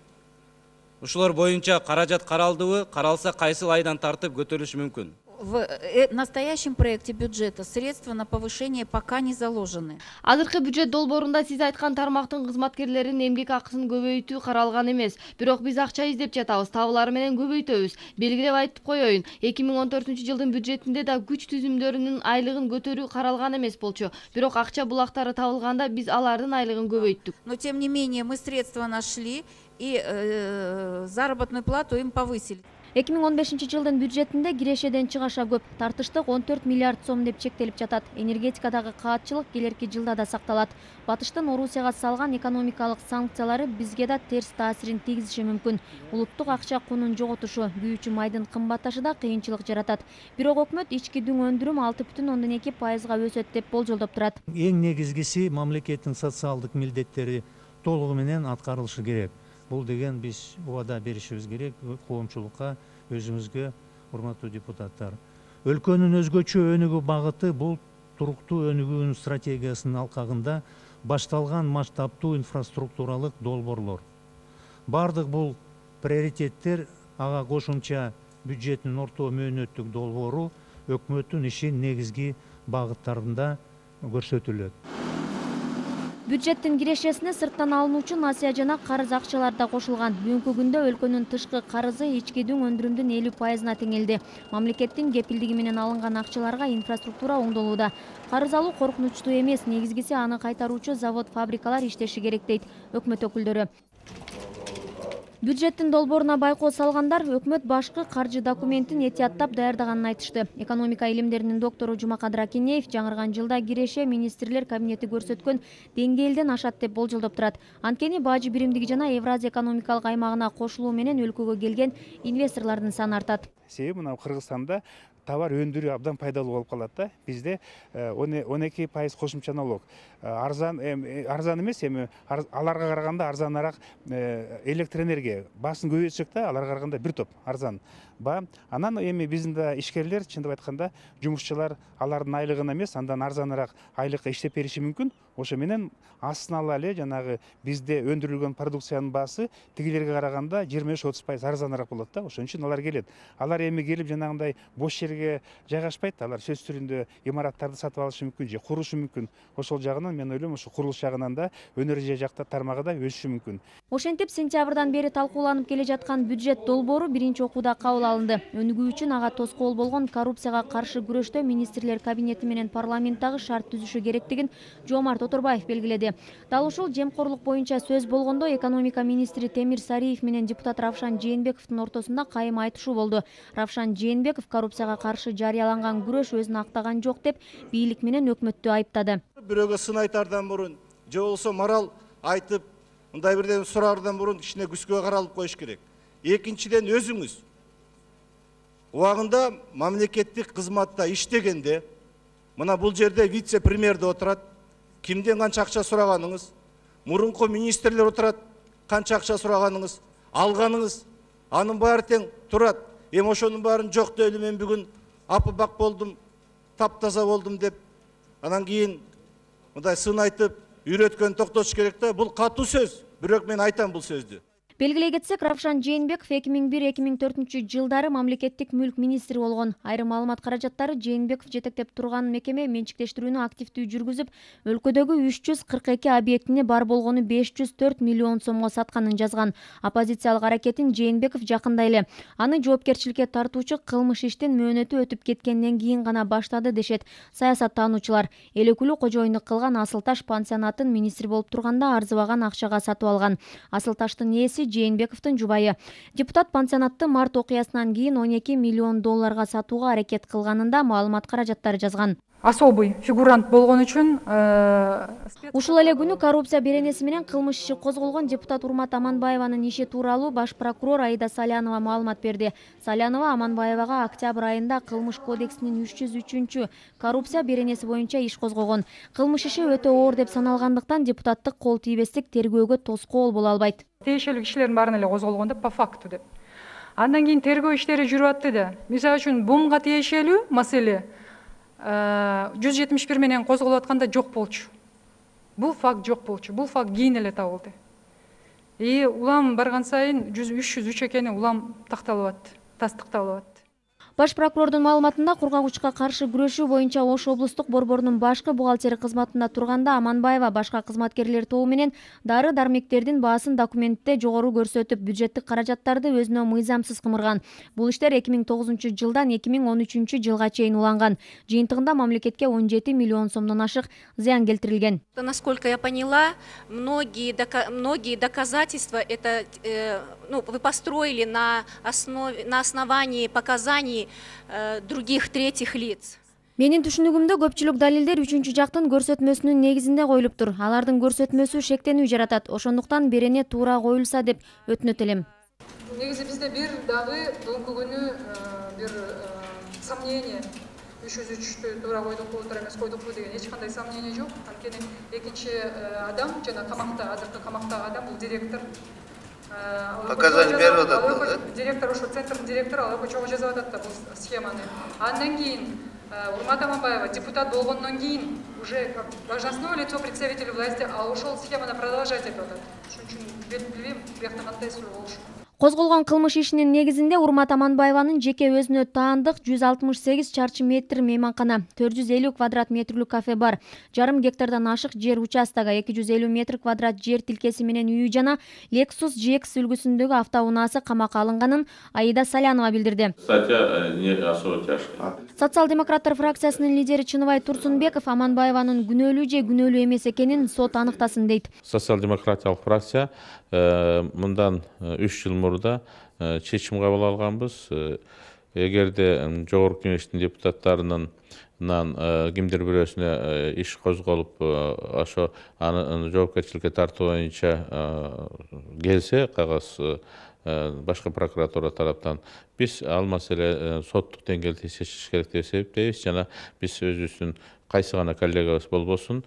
Ушулар боюнча каражат каралдыбы, каралса кайсыл айдан тартып көтөрүлүшү мүмкүн? В настоящем проекте бюджета средства на повышение пока не заложены. Азыркы бюджет долбоорунда сиз айткан тармактын кызматкерлеринин эмгек акысын көбөйтүү каралган эмес. Бирок биз акча издеп жатабыз, табылары менен көбөйтөбүз. Белгилеп айтып коеюн, эки миң он төртүнчү жылдын бюджетинде да күч түзүмдөрүнүн айлыгын көтөрүү каралган эмес болчу. Бирок акча булактары табылганда биз алардын айлыгын көбөйттүк. Но тем не менее мы средства нашли и э, заработную плату им повысили. эки миң он бешинчи жылдын бюджетинде кирешеден чыгаша көп, тартыштык он төрт миллиард сом деп чектелип жатат. Энергетикадагы каатчылык келерки жылда да сакталат. Батыштын Орусияга салган экономикалык санкциялары бизге да терс таасирин тийгизиши мүмкүн. Улуттук акча кунун жоготушу, күйүүчү майдын кымбатташы да кыйынчылык жаратат. Бирок өкмөт ички дүң өндүрүм алты бүтүн ондон эки пайызга өсөт деп болжолдоп турат. Эң негизгиси мамлекеттин социалдык милдеттери толугу менен аткарылышы керек. Бул деген биз убада беришибиз керек коомчулукка, өзүңүзгө, урматтуу депутаттар. Өлкөнүн өзгөчө өнүгүү багыты бул туруктуу өнүгүүнүн стратегиясынын алкагында башталган масштабтуу инфраструктуралык долбоорлор. Бардык бул приоритеттер ага кошумча бюджеттин орто мөөнөттүк долбоору өкмөттүн ишин негизги багыттарында көрсөтүлөт. Бюджеттин кирешесине сырттан алынуучу насыя жана карыз акчалар да кошулган. Бүгүнкү күндө өлкөнүн тышкы карызы ичкидүү өндүрүмдүн элүү пайызына теңелди. Мамлекеттин кепилдиги менен алынган акчаларга инфраструктура оңдолууда. Карыз алуу коркунучтуу эмес, негизгиси аны кайтаруучу завод, фабрикалар иштеши керек дейт өкмөт өкүлдөрү. Бюджеттин долбооруна байкоо салгандар өкмөт башкы каржы документин этияттап даярдаганын айтышты. Экономика илимдеринин доктору Жумакадыр Акинеев жаңырган жылда киреше министрлер кабинети көрсөткөн деңгээлден ашат деп болжолдоп турат. Анткени бажы биримдиги жана Евразия экономикалык аймагына кошулуу менен өлкөгө келген инвесторлордун саны артат. Себеби мына Кыргызстанда товар өндүрүү абдан пайдалуу болуп калат да. Бизде он эки пайыз кошумча налог. Арзан арзан эмес, эми аларга караганда арзаныраак электр энергия басын көбөйтсөк да, аларга караганда бир топ арзан. Ба, анан эми биздин да ишкерлер, чындап айтканда, жумушчулар алардын айлыгына эмес, андан арзаныраак айлыкка иштеп бериши мүмкүн. Ошо менен астына ала эле жанагы бизде өндүрүлгөн продукциянын баасы тигилерге караганда жыйырма беш отуз пайыз арзаныраак болот да. Ошон үчүн алар келет. Алар эми келип жанагындай бош жерге жайгашпайт. Алар сөз түрүндө имараттарды сатып алышы мүмкүн же курушу мүмкүн. Ошол жагынан мен ойлойм, ошо курулуш жагынан да өнөр жакта тармагы да өсүшү мүмкүн. Ошентип сентябрдан бери талкууланып келе жаткан бюджет долбоору биринчи окууда кабыл алынды. Өнүгүү үчүн ага тоскоол болгон коррупцияга каршы күрөштө министрлер кабинети менен парламенттагы шарт түзүшү керектигин Жомарт Оторбаев белгиледи. Дал ушул жемкорлук боюнча сөз болгондо экономика министри Темир Сариев менен депутат Равшан Жээнбековдун ортосунда кайым айтышуу болду. Равшан Жээнбеков коррупцияга каршы жарыяланган күрөш өзүн актаган жок деп бийлик менен өкмөттү айыптады. Бирөөгө сын айтардан мурун же болбосо морал айтып, мындай бирден сураардан мурун кичине күскө каралып коюш керек. Экинчиден өзүңүз убагында мамлекеттик кызматта иштегенде, мына бул жерде вице-премьерде отурат, кимден канча акча сураганыңыз, мурунку министрлер отурат, канча акча сураганыңыз, алганыңыз, анын баары тең турат. Эми ошонун баарын жок деп эле мен бүгүн апыбак болдум, таптаза болдум деп, анан кийин мындай сын айтып, үйрөткөн токтотуш керек да. Бул катуу сөз, бирок мен айтам бул сөздү. Белгилей кетсек, Равшан Жээнбеков эки миң бир эки миң төртүнчү жылдары мамлекеттик мүлк министри болгон. Айрым маалымат каражаттары Жээнбеков жетектеп турган мекеме менчиктештирүүнү активдүү жүргүзүп, өлкөдөгү үч жүз кырк эки объектине бар болгону беш жүз төрт миллион сомго сатканын жазган. Оппозициялык аракетин Жээнбеков жакында эле аны жоопкерчиликке тартуучу кылмыш иштин мөөнөтү өтүп кеткенден кийин гана баштады дешет саясаттануучулар. Эл өкүлү кожоюндук кылган Асылташ пансионатын министр болуп турганда арзыбаган акчага сатып алган. Асылташтын ээси Жээнбековдун жубайы. Депутат пансионатты март окуясынан кийин он эки миллион долларга сатууга аракет кылганында маалымат каражаттары жазган. Особый фигурант болгон үчүн ушул эле күнү коррупция беренеси менен кылмыш иши козголгон депутат Урмат Аманбаеванын иши тууралуу баш прокурор Аида Салянова маалымат берди. Салянова Аманбаевага октябрь айында кылмыш кодексинин үч жүз үчүнчү коррупция беренеси боюнча иш козгогон. Кылмыш иши өтө оор деп саналгандыктан депутаттык кол тийбестик тергөөгө тоскоол боло албайт. Тиешелүү кишилердин баарын эле козголгон деп по факту деп. Андан кийин тергөө иштери жүрүп атты да. Мисалы үчүн бумга тиешелүү маселе жүз жетимиш бир менен козголуп атканда жок болчу. Бул факт жок болчу. Бул факт кийин эле табылды. И улам барган сайын үч жүз үч экени улам такталып атты, тастыкталып атты. Баш прокурордун маалыматында кургагучка каршы күрөшүү боюнча Ош облустук борборунун башкы бухгалтери кызматында турганда Аманбаева башка кызматкерлер тобу менен дары дармектердин баасын документте жогору көрсөтүп, бюджеттик каражаттарды өзүнө мыйзамсыз кымырган. Бул иштер эки миң тогузунчу жылдан эки миң он үчүнчү жылга чейин уланган. Жыйынтыгында мамлекетке он жети миллион сомдон ашык зыян келтирилген. Насколько я поняла, многие многие доказательства это ну, вы построили на основе на основании показаний других третьих лиц. Менин түшүнүгүмдө көпчүлүк далилдер үчүнчү жактын көрсөтмөсүнүн негизинде коюлуптур. Алардын көрсөтмөсү шектенүү жаратат. Ошондуктан берене туура коюлса деп өтүнөт элем. Негизи бизде бир дагы бүгүнкү күнү бир сомнение үч жүз үчтү туура койдукпу, туура эмес койдукпу деген эч кандай сомнение жок. Анткени экинчи адам жана камакта, азыркы камактагы адам бул директор. Показания берип атат да? Директор ошо центрдин директору ал чогуу жазып атат да бул схеманы. Андан кийин Урмат Аманбаева депутат болгондон кийин уже как должностное лицо представителей власти ал ошол схеманы продолжать этип атат. Ошон үчүн билбейм, биякта кандай сүрөө болушу. Козголгон кылмыш ишинин негизинде Урмат Аманбаеванын жеке өзүнө таандык жүз алтымыш сегиз чарчы метр мейманкана, төрт жүз элүү квадрат метрлүү кафе бар, жарым гектардан ашык жер участогу, эки жүз элүү метр квадрат жер тилкеси менен үйү жана Lexus джи экс үлгүсүндөгү автоунаасы камакка алынганын Аида Салянова билдирди. Статья не особо тяжкая. Социал-демократтар фракциясынын лидери Чыныбай Турсунбеков Аманбаеванын күнөөлүү же күнөөлүү эмес экенин сот аныктасын дейт. Социал-демократиялык фракция мындан үч жыл мурда чечим кабыл алганбыз. Эгерде жогорку кеңештин депутаттарынын кимдир бирөөсүнө иш козголуп, ошо аны жоопкерчиликке тартуу боюнча келсе кагаз башкы прокуратура тараптан, биз ал маселе соттук деңгээлде чечиш керек деп эсептейбиз жана биз өзүбүздүн кайсы гана коллегабыз болбосун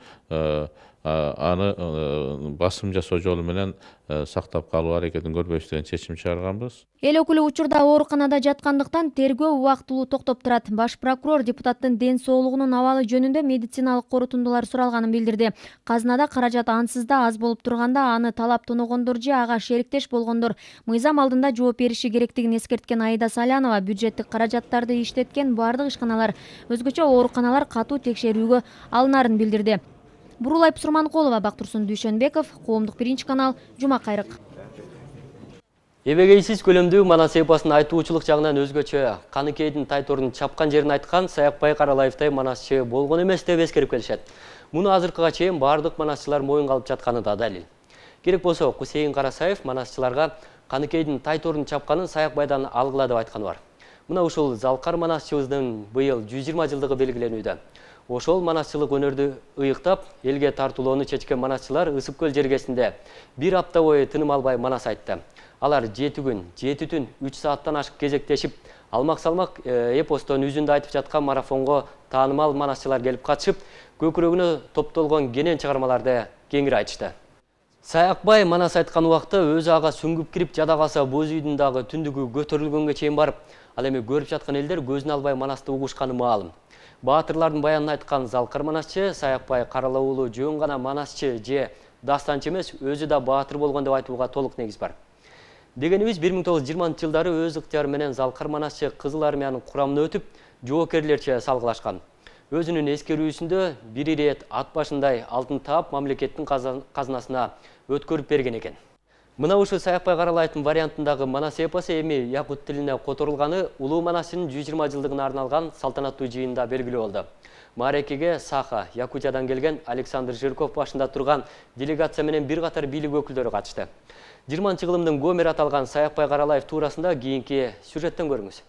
аны басым жасоо жолу менен сактап калуу аракетин көрбөйбүз деген чечим чыгарганбыз. Эл өкүлү учурда ооруканада жаткандыктан тергөө убактылуу токтоп турат. Баш прокурор депутаттын ден соолугунун абалы жөнүндө медициналык корутундулар суралганын билдирди. Казынада каражат ансыз да аз болуп турганда аны талап тоногондор же ага шериктеш болгондор мыйзам алдында жооп бериши керектигин эскерткен Аида Салянова бюджеттик каражаттарды иштеткен бардык ишканалар, өзгөчө ооруканалар катуу текшерүүгө алынарын билдирди. Бурулай Псурманкулова, Бактурсун Дүйшөнбеков, Коомдук биринчи канал, Жума кайрык. Эбегейсиз көлөмдүү манас эпосун айтуучулук жагынан өзгөчө Каныкейдин тайторун чапкан жерин айткан Саякбай Каралаевтай манасчы болгон эмес деп эскерип келишет. Муну азыркыга чейин бардык манасчылар моюнга алып жатканы да далил. Керек болсо Кусейин Карасаев манасчыларга Каныкейдин тайторун чапканын Саякбайдан алгыла деп айтканы бар. Мына ушул залкар манасчыбыздын быйыл жүз жыйырма жылдыгы белгиленүүдө. Ошол манасчылык өнөрдү ыйыктап, элге тартуулоону чечкен манасчылар Ысык көл жергесинде бир апта бою тыным албай манас айтты. Алар жети күн, жети түн, үч сааттан ашык кезектешип, алмак-салмак эпостон үзүндү айтып жаткан марафонго таанымал манасчылар келип катышып, көкүрөгүнө топтолгон кенен чыгармаларды кеңири айтышты. Саякбай манас айткан убакта өзү ага сүңгүп кирип жада калса боз үйдүн дагы түндүгү көтөрүлгөнгө чейин барып, ал эми көрүп жаткан элдер көзүн албай манасты угушканы маалым. Баатырлардын баянын айткан залкар манасчы Саякбай Карала уулу жөн гана манасчы же дастанчы эмес, өзү да баатыр болгон деп айтууга толук негиз бар. Дегенибиз бир миң тогуз жүз жыйырманчы жылдары өз ыктыяры менен залкар манасчы Кызыл армиянын курамына өтүп, жоокерлерче салгылашкан. Өзүнүн эскерүүсүндө бир ирет ат башындай алтын таап мамлекеттин казынасына өткөрүп берген экен. Мына ушу Саякбай Каралаевдин вариантындагы манас эпосу эми якут тилине которулганы улуу манасчынын жүз жыйырма жылдыгына арналган салтанаттуу жыйында белгилүү болду. Маарекеге Саха, Якутиядан келген Александр Жирков башында турган делегация менен бир катар бийлик өкүлдөрү катышты. жыйырманчы кылымдын гомер аталган Саякбай Каралаев туурасында кийинки сюжеттен көрүңүз.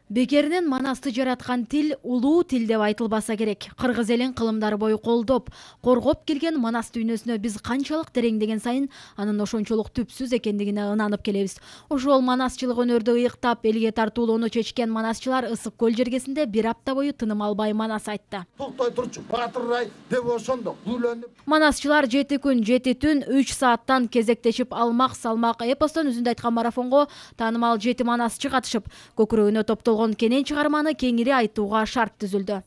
Бекеринен манасты жараткан тил улуу тил деп айтылбаса керек. Кыргыз элин кылымдар бою колдоп, коргоп келген манас дүйнөсүнө биз канчалык тереңдеген сайын анын ошончолук түпсүз экендигине ынанып келебиз. Ошол манасчылык өнөрдү ыйыктап, элге тартуулоону чечкен манасчылар Ысык көл жергесинде бир апта бою тыным албай манас айтты. Токтой турчу, батыррай деп ошондо гүлөнүп. Манасчылар жети күн, жети түн, үч сааттан кезектешип алмак салмак эпостон үзүндө айткан марафонго таанымал жети манасчы катышып, көкүрөгүнө топтолгон кенен чыгарманы кеңири айтууга шарт түзүлдү.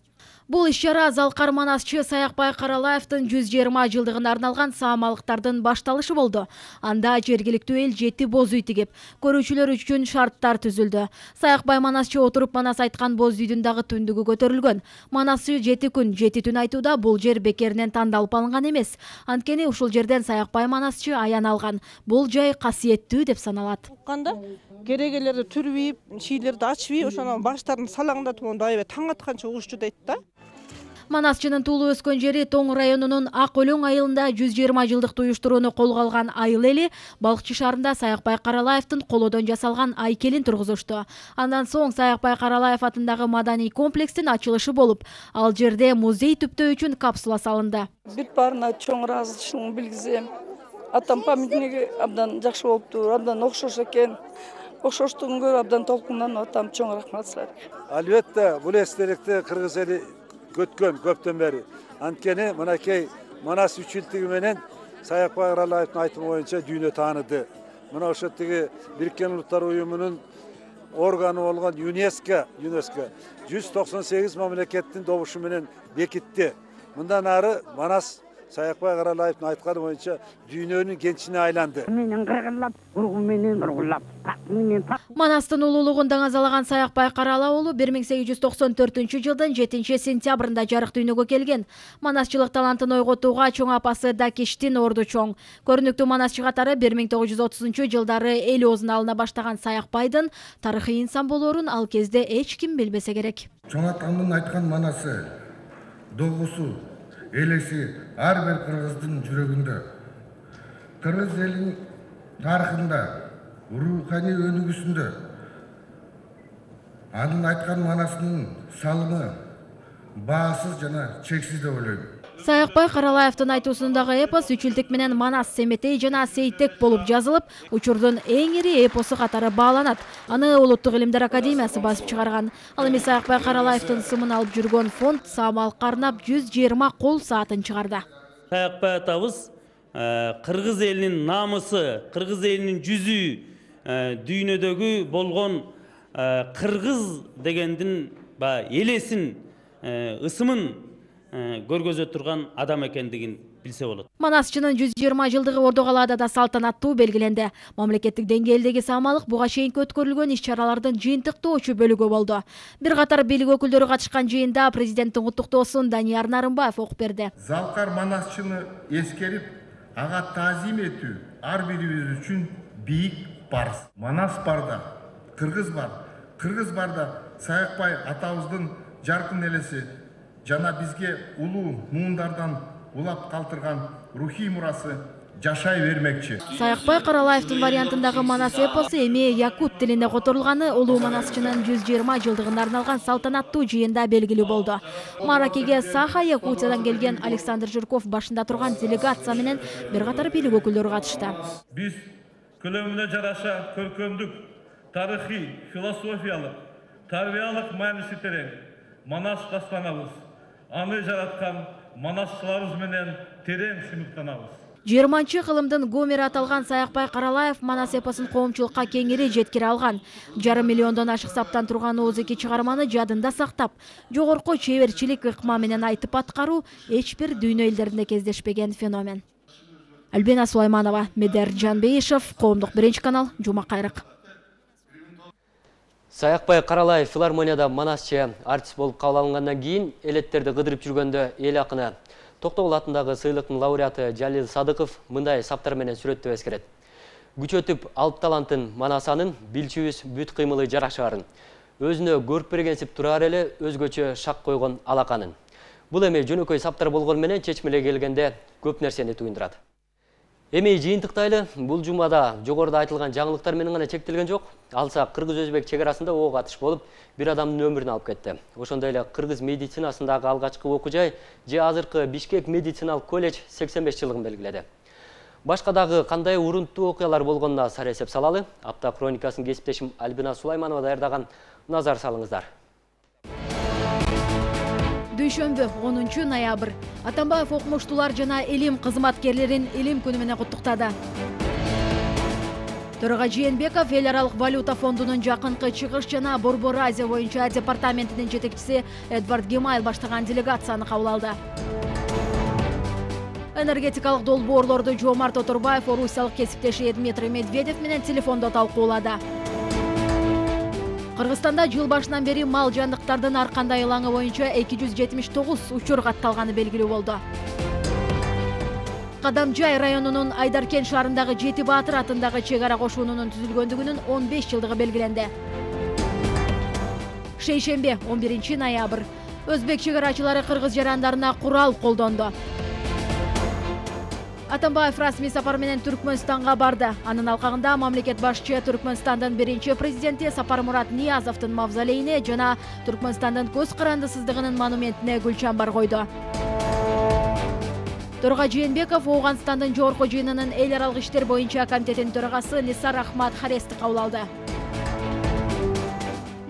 Бул иш-чара залкар манасчы Саякбай Каралаевдин жүз жыйырма жылдыгына арналган саамалыктардын башталышы болду. Анда жергиликтүү эл жети боз үй тигип, көрүүчүлөр үчүн шарттар түзүлдү. Саякбай манасчы отуруп манас айткан боз үйдүн дагы түндүгү көтөрүлгөн. Манасы жети күн, жети түн айтууда бул жер бекеринен тандалып алынган эмес. Анткени ушул жерден Саякбай манасчы аян алган. Бул жай касиеттүү деп саналат. Керегелерди түрбейип, шийлерди ачпай, ошону баштарын салаңдатып, монда аябай таң атканча угушчу дейт да. Манасчынын туулуп өскөн жери Тоң районунун Ак Өлөң айылында жүз жыйырма жылдык туюштурууну колго алган айыл эли Балыкчы шаарында Саякбай Каралаевдин колодон жасалган айкелин тургузушту. Андан соң Саякбай Каралаев атындагы маданий комплекстин ачылышы болуп, ал жерде музей түптөө үчүн капсула салынды. Бүт баарына чоң ыраазычылыгымды билгизем. Атам памятниги абдан жакшы болуптур, абдан окшош экен. Окшоштугун көрүп абдан толкунданып атам чоң рахмат сылайт. Албетте, бул эстеликти кыргыз эли көткөн көптөн бери. Анткени мынакей манас үчүлтүгү менен Саякбай Каралаевдин айтымы боюнча дүйнө тааныды. Мына ошо тиги Бириккен Улуттар Уюмунун органы болгон ЮНЕСКО, ЮНЕСКО жүз токсон сегиз мамлекеттин добушу менен бекитти. Мындан ары манас Саякбай Каралаевдин айтканы боюнча дүйнөнүн кенчине айланды. Менен кыргылап, ургу менен ургулап, менен Манастын улуулугун даңазалаган Саякбай Карала уулу бир миң сегиз жүз токсон төртүнчү жылдын жетинчи сентябрында жарык дүйнөгө келген. Манасчылык талантын ойготууга чоң апасы Дакиштин орду чоң. Көрүнүктүү манасчы катары бир миң тогуз жүз отузунчу жылдары эл оозуна алына баштаган Саякбайдын тарыхый инсан болоорун ал кезде эч ким билбесе керек. Чоң атамдын айткан манасы, догусу, элеси ар бир кыргыздын жүрөгүндө. Кыргыз элинин тарыхында, руханий өнүгүүсүндө анын айткан манасынын салымы баасыз жана чексиз деп ойлойм. Саякбай Каралаевдин айтуусундагы эпос үч илдик менен Манас, Семетей жана Сейтек болуп жазылып, учурдун эң ири эпосу катары бааланат. Аны Улуттук илимдер академиясы басып чыгарган. Ал эми Саякбай Каралаевдин сымын алып жүргөн фонд Самалыкка арнап жүз жыйырма кол саатын чыгарды. Саякбай атабыз кыргыз элинин намысы, кыргыз элинин жүзү, дүйнөдөгү болгон кыргыз дегендин элесин, ысымын көргөзө турган адам экендигин билсе болот. Манасчынын жүз жыйырма жылдыгы Ордо-Калаада да салтанаттуу белгиленди. Мамлекеттик деңгээлдеги Самалык буга чейин өткөрүлгөн иш-чаралардын жыйынтыктоочу бөлүгү болду. Бир катар бийлик өкүлдөрү катышкан жыйында президенттин куттуктоосун Данияр Нарымбаев окуп берди. Залкар манасчыны эскерип, ага таазим этүү ар бирибиз үчүн бийик парыз. Манас барда кыргыз бар, кыргыз барда Саякбай атабыздын жаркын элеси жана бизге улуу муундардан улап калтырган рухий мурасы жашай бермекчи. Саякбай Каралаевдин вариантындагы Манас эпосу эми якут тилинде которулганы улуу манасчынын жүз жыйырма жылдыгына арналган салтанаттуу жыйында белгилүү болду. Маракеге Саха Якутиядан келген Александр Жирков башында турган делегация менен бир катар бийлик өкүлдөрү катышты. Биз көлөмүнө жараша көркөмдүк, тарыхый, философиялык, тарбиялык мааниси терең Манас дастанабыз. Аны жараткан манасчыларыбыз менен терең сыймыктанабыз. жыйырманчы кылымдын Гомери аталган Саякбай Каралаев Манас эпосун коомчулукка кеңири жеткире алган. Жарым миллиондон ашык саптан турган оозеки чыгарманы жадында сактап, жогорку чеберчилик ыкма менен айтып аткаруу эч бир дүйнө элдеринде кездешпеген феномен. Альбина Сулайманова, Медер Жанбейишев, Коомдук биринчи канал, Жума кайрык. Саякбай Каралаев филармонияда манасчы артист болуп кабыл алынгандан кийин элеттерди кыдырып жүргөндө эл акыны Токтогул атындагы сыйлыктын лауреаты Жалил Садыков мындай саптар менен сүрөттөп эскерет. Күч өтүп алып талантын манасанын билчүбүз бүт кыймылы жарашарын. Өзүнө көрүп бергенсип турар эле өзгөчө шак койгон алаканын. Бул эми жөнөкөй саптар болгон менен чечмеле келгенде көп нерсени туюндурат. Эми жыйынтыктайлы бул жумада жогоруда айтылган жаңылыктар менен гана чектелген жок. Алса кыргыз-өзбек чек арасында ок атыш болуп, бир адамдын өмүрүн алып кетти. Ошондой эле кыргыз медицинасындагы алгачкы окуу жай же азыркы Бишкек медициналык колледж сексен беш жылдыгын белгиледи. Башка дагы кандай урунттуу окуялар болгонуна сар эсеп салалы. Апта хроникасын кесиптешим Альбина Сулайманова даярдаган. Назар салыңыздар. Дүйшөмбү онунчу ноябрь. Атамбаев окумуштуулар жана илим кызматкерлерин илим күнү менен куттуктады. Төрага Жээнбеков эл аралык валюта фондунун жакынкы чыгыш жана Борбор Азия боюнча департаментинин жетекчиси Эдвард Гемайл баштаган делегацияны кабыл алды. Энергетикалык долбоорлорду Жомарт Оторбаев орусиялык кесиптеши Дмитрий Медведев менен телефондо талкуулады. Кыргызстанда жыл башынан бери мал жандыктардын ар кандай ылаңы боюнча эки жүз жетимиш тогуз учур катталганы белгилүү болду. Кадамжай районунун Айдаркен шаарындагы Жети Баатыр атындагы чек ара кошунунун түзүлгөндүгүнүн он беш жылдыгы белгиленди. Шейшембе он биринчи ноябрь. Өзбек чек арачылары кыргыз жарандарына курал колдонду. Атамбаев расмий сапар менен Түркмөнстанга барды. Анын алкагында мамлекет башчы Түркмөнстандын биринчи президенти Сапармурат Ниязовдун мавзолейине жана Түркмөнстандын көз карандысыздыгынын монументине гүл чамбар койду. Төрага Жээнбеков Оогандстандын жогорку жыйынынын эл аралык иштер боюнча комитетинин төрагасы Нисар Ахмад Харести кабыл алды.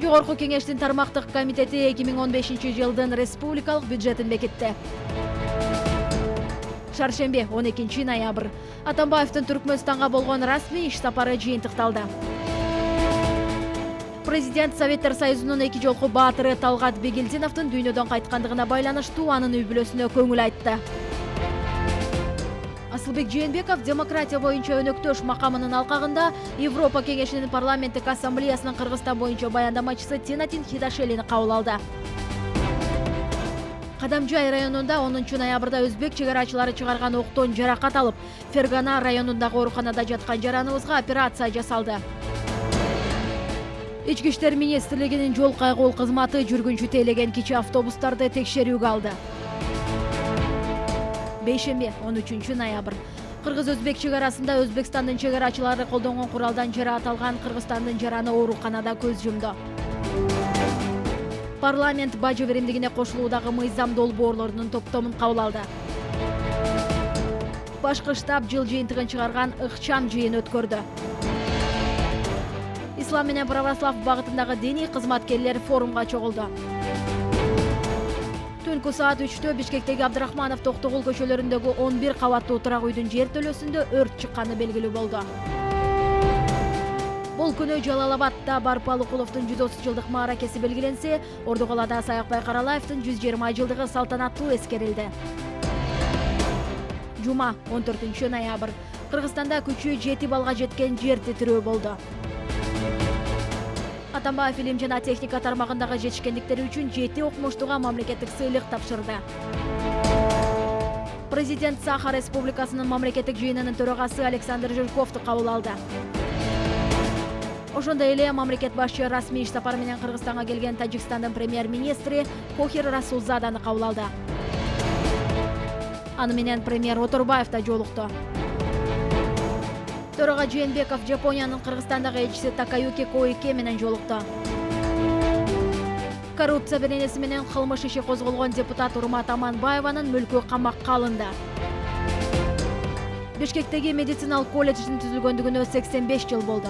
Жогорку кеңештин тармактык комитети эки миң он бешинчи жылдын республикалык бюджетин бекитти. Шаршембе он экинчи ноябрь. Атамбаевдин Түркмөнстанга болгон расмий иш сапары жыйынтыкталды. Президент Советтер Союзунун эки жолку баатыры Талгат Бегелдиновдун дүйнөдөн кайткандыгына байланыштуу анын үй бүлөсүнө көңүл айтты. Асылбек Жээнбеков демократия боюнча өнөктөш макамынын алкагында Европа кеңешинин парламенттик ассамблеясынын Кыргызстан боюнча баяндамачысы Тенатин Хидашелини кабыл алды. Кадамжай районунда онунчу ноябрда өзбек чегарачылары чыгарган октон жаракат алып, Фергана районундагы ооруканада жаткан жараныбызга операция жасалды. Ички иштер министрлигинин жол кайгыл кызматы жүргүнчү тейлеген кичи автобустарды текшерүүгө алды. Бейшемби он үчүнчү ноябрь. Кыргыз-өзбек чегарасында Өзбекстандын чегарачылары колдонгон куралдан жараат алган Кыргызстандын жараны ооруканада көз жумду. Парламент бажы беримдигине кошулуудагы мыйзам долбоорлорунун топтомун кабыл алды. Башкы штаб жыл жыйынтыгын чыгарган ыкчам жыйын өткөрдү. Ислам менен православ багытындагы диний кызматкерлер форумга чогулду. Түнкү саат үчтө Бишкектеги Абдрахманов Токтогул көчөлөрүндөгү он бир кабаттуу турак үйдүн жер төлөсүндө өрт чыкканы белгилүү болду. Бул күнү Жалалабадда Барпалыкуловдун жүз отуз жылдык мааракеси белгиленсе, Ордукалада Саякбай Каралаевдин жүз жыйырма жылдыгы салтанаттуу эскерилди. Жума он төртүнчү ноябрь. Кыргызстанда күчү жети балга жеткен жер титирөө болду. Атамбаев илим жана техника тармагындагы жетишкендиктери үчүн жети окумуштууга мамлекеттик сыйлык тапшырды. Президент Саха Республикасынын мамлекеттик жыйынынын төрагасы Александр Жирковду кабыл алды. Ошондой эле мамлекет башчы расмий иш сапары менен Кыргызстанга келген Тажикстандын премьер-министри Кохир Расулзаданы кабыл алды. Аны менен премьер Оторбаев да жолукту. Төрага Жээнбеков Жапониянын Кыргызстандагы элчиси Такаюки Коике менен жолукту. Коррупция беренеси менен кылмыш иши козголгон депутат Урмат Аманбаеванын мүлкү камакка алынды. Бишкектеги медициналык колледждин түзүлгөндүгүнө сексен беш жыл болду.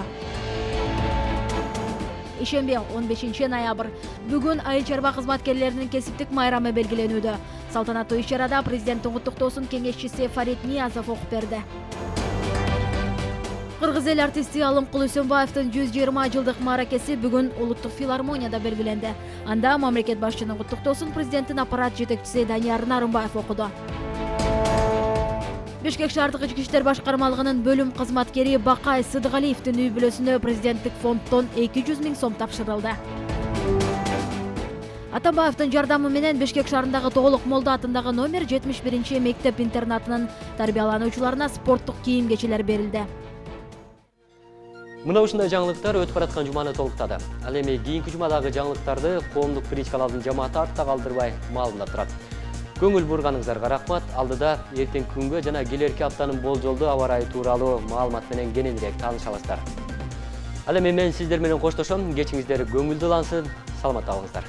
Ишемби он бешинчи ноябрь. Бүгүн айыл чарба кызматкерлеринин кесиптик майрамы белгиленүүдө. Салтанаттуу иш-чарада президенттин куттуктоосун кеңешчиси Фарид Ниязов окуп берди. Кыргыз эл артисти Алымкул Үсөнбаевдин жүз жыйырма жылдык мааракеси бүгүн Улуттук филармонияда белгиленди. Анда мамлекет башчынын куттуктоосун президенттин аппарат жетекчиси Данияр Нарымбаев окуду. Бишкек шаардык ички иштер башкармалыгынын бөлүм кызматкери Бакай Сыдыгалиевдин үй бүлөсүнө президенттик фонддон эки жүз миң сом тапшырылды. Атамбаевдин жардамы менен Бишкек шаарындагы Тоголок Молда атындагы номер жетимиш биринчи мектеп-интернатынын тарбиялануучуларына спорттук кийим-кечелер берилди. Мына ушундай жаңылыктар өтүп бараткан жуманы толуктады. Ал эми кийинки жумадагы жаңылыктарды коомдук биринчи каналдын жамааты артта калтырбай маалымдап турат. Көңүл бурганыңыздарга рахмат. Алдыда эртең күнгө жана келерки аптанын болжолдуу аба ырайы тууралуу маалымат менен кененирээк тааныша аласыздар. Ал эми мен сиздер менен коштошом. Кечиңиздер көңүлдүү улансын. Саламатта болуңуздар.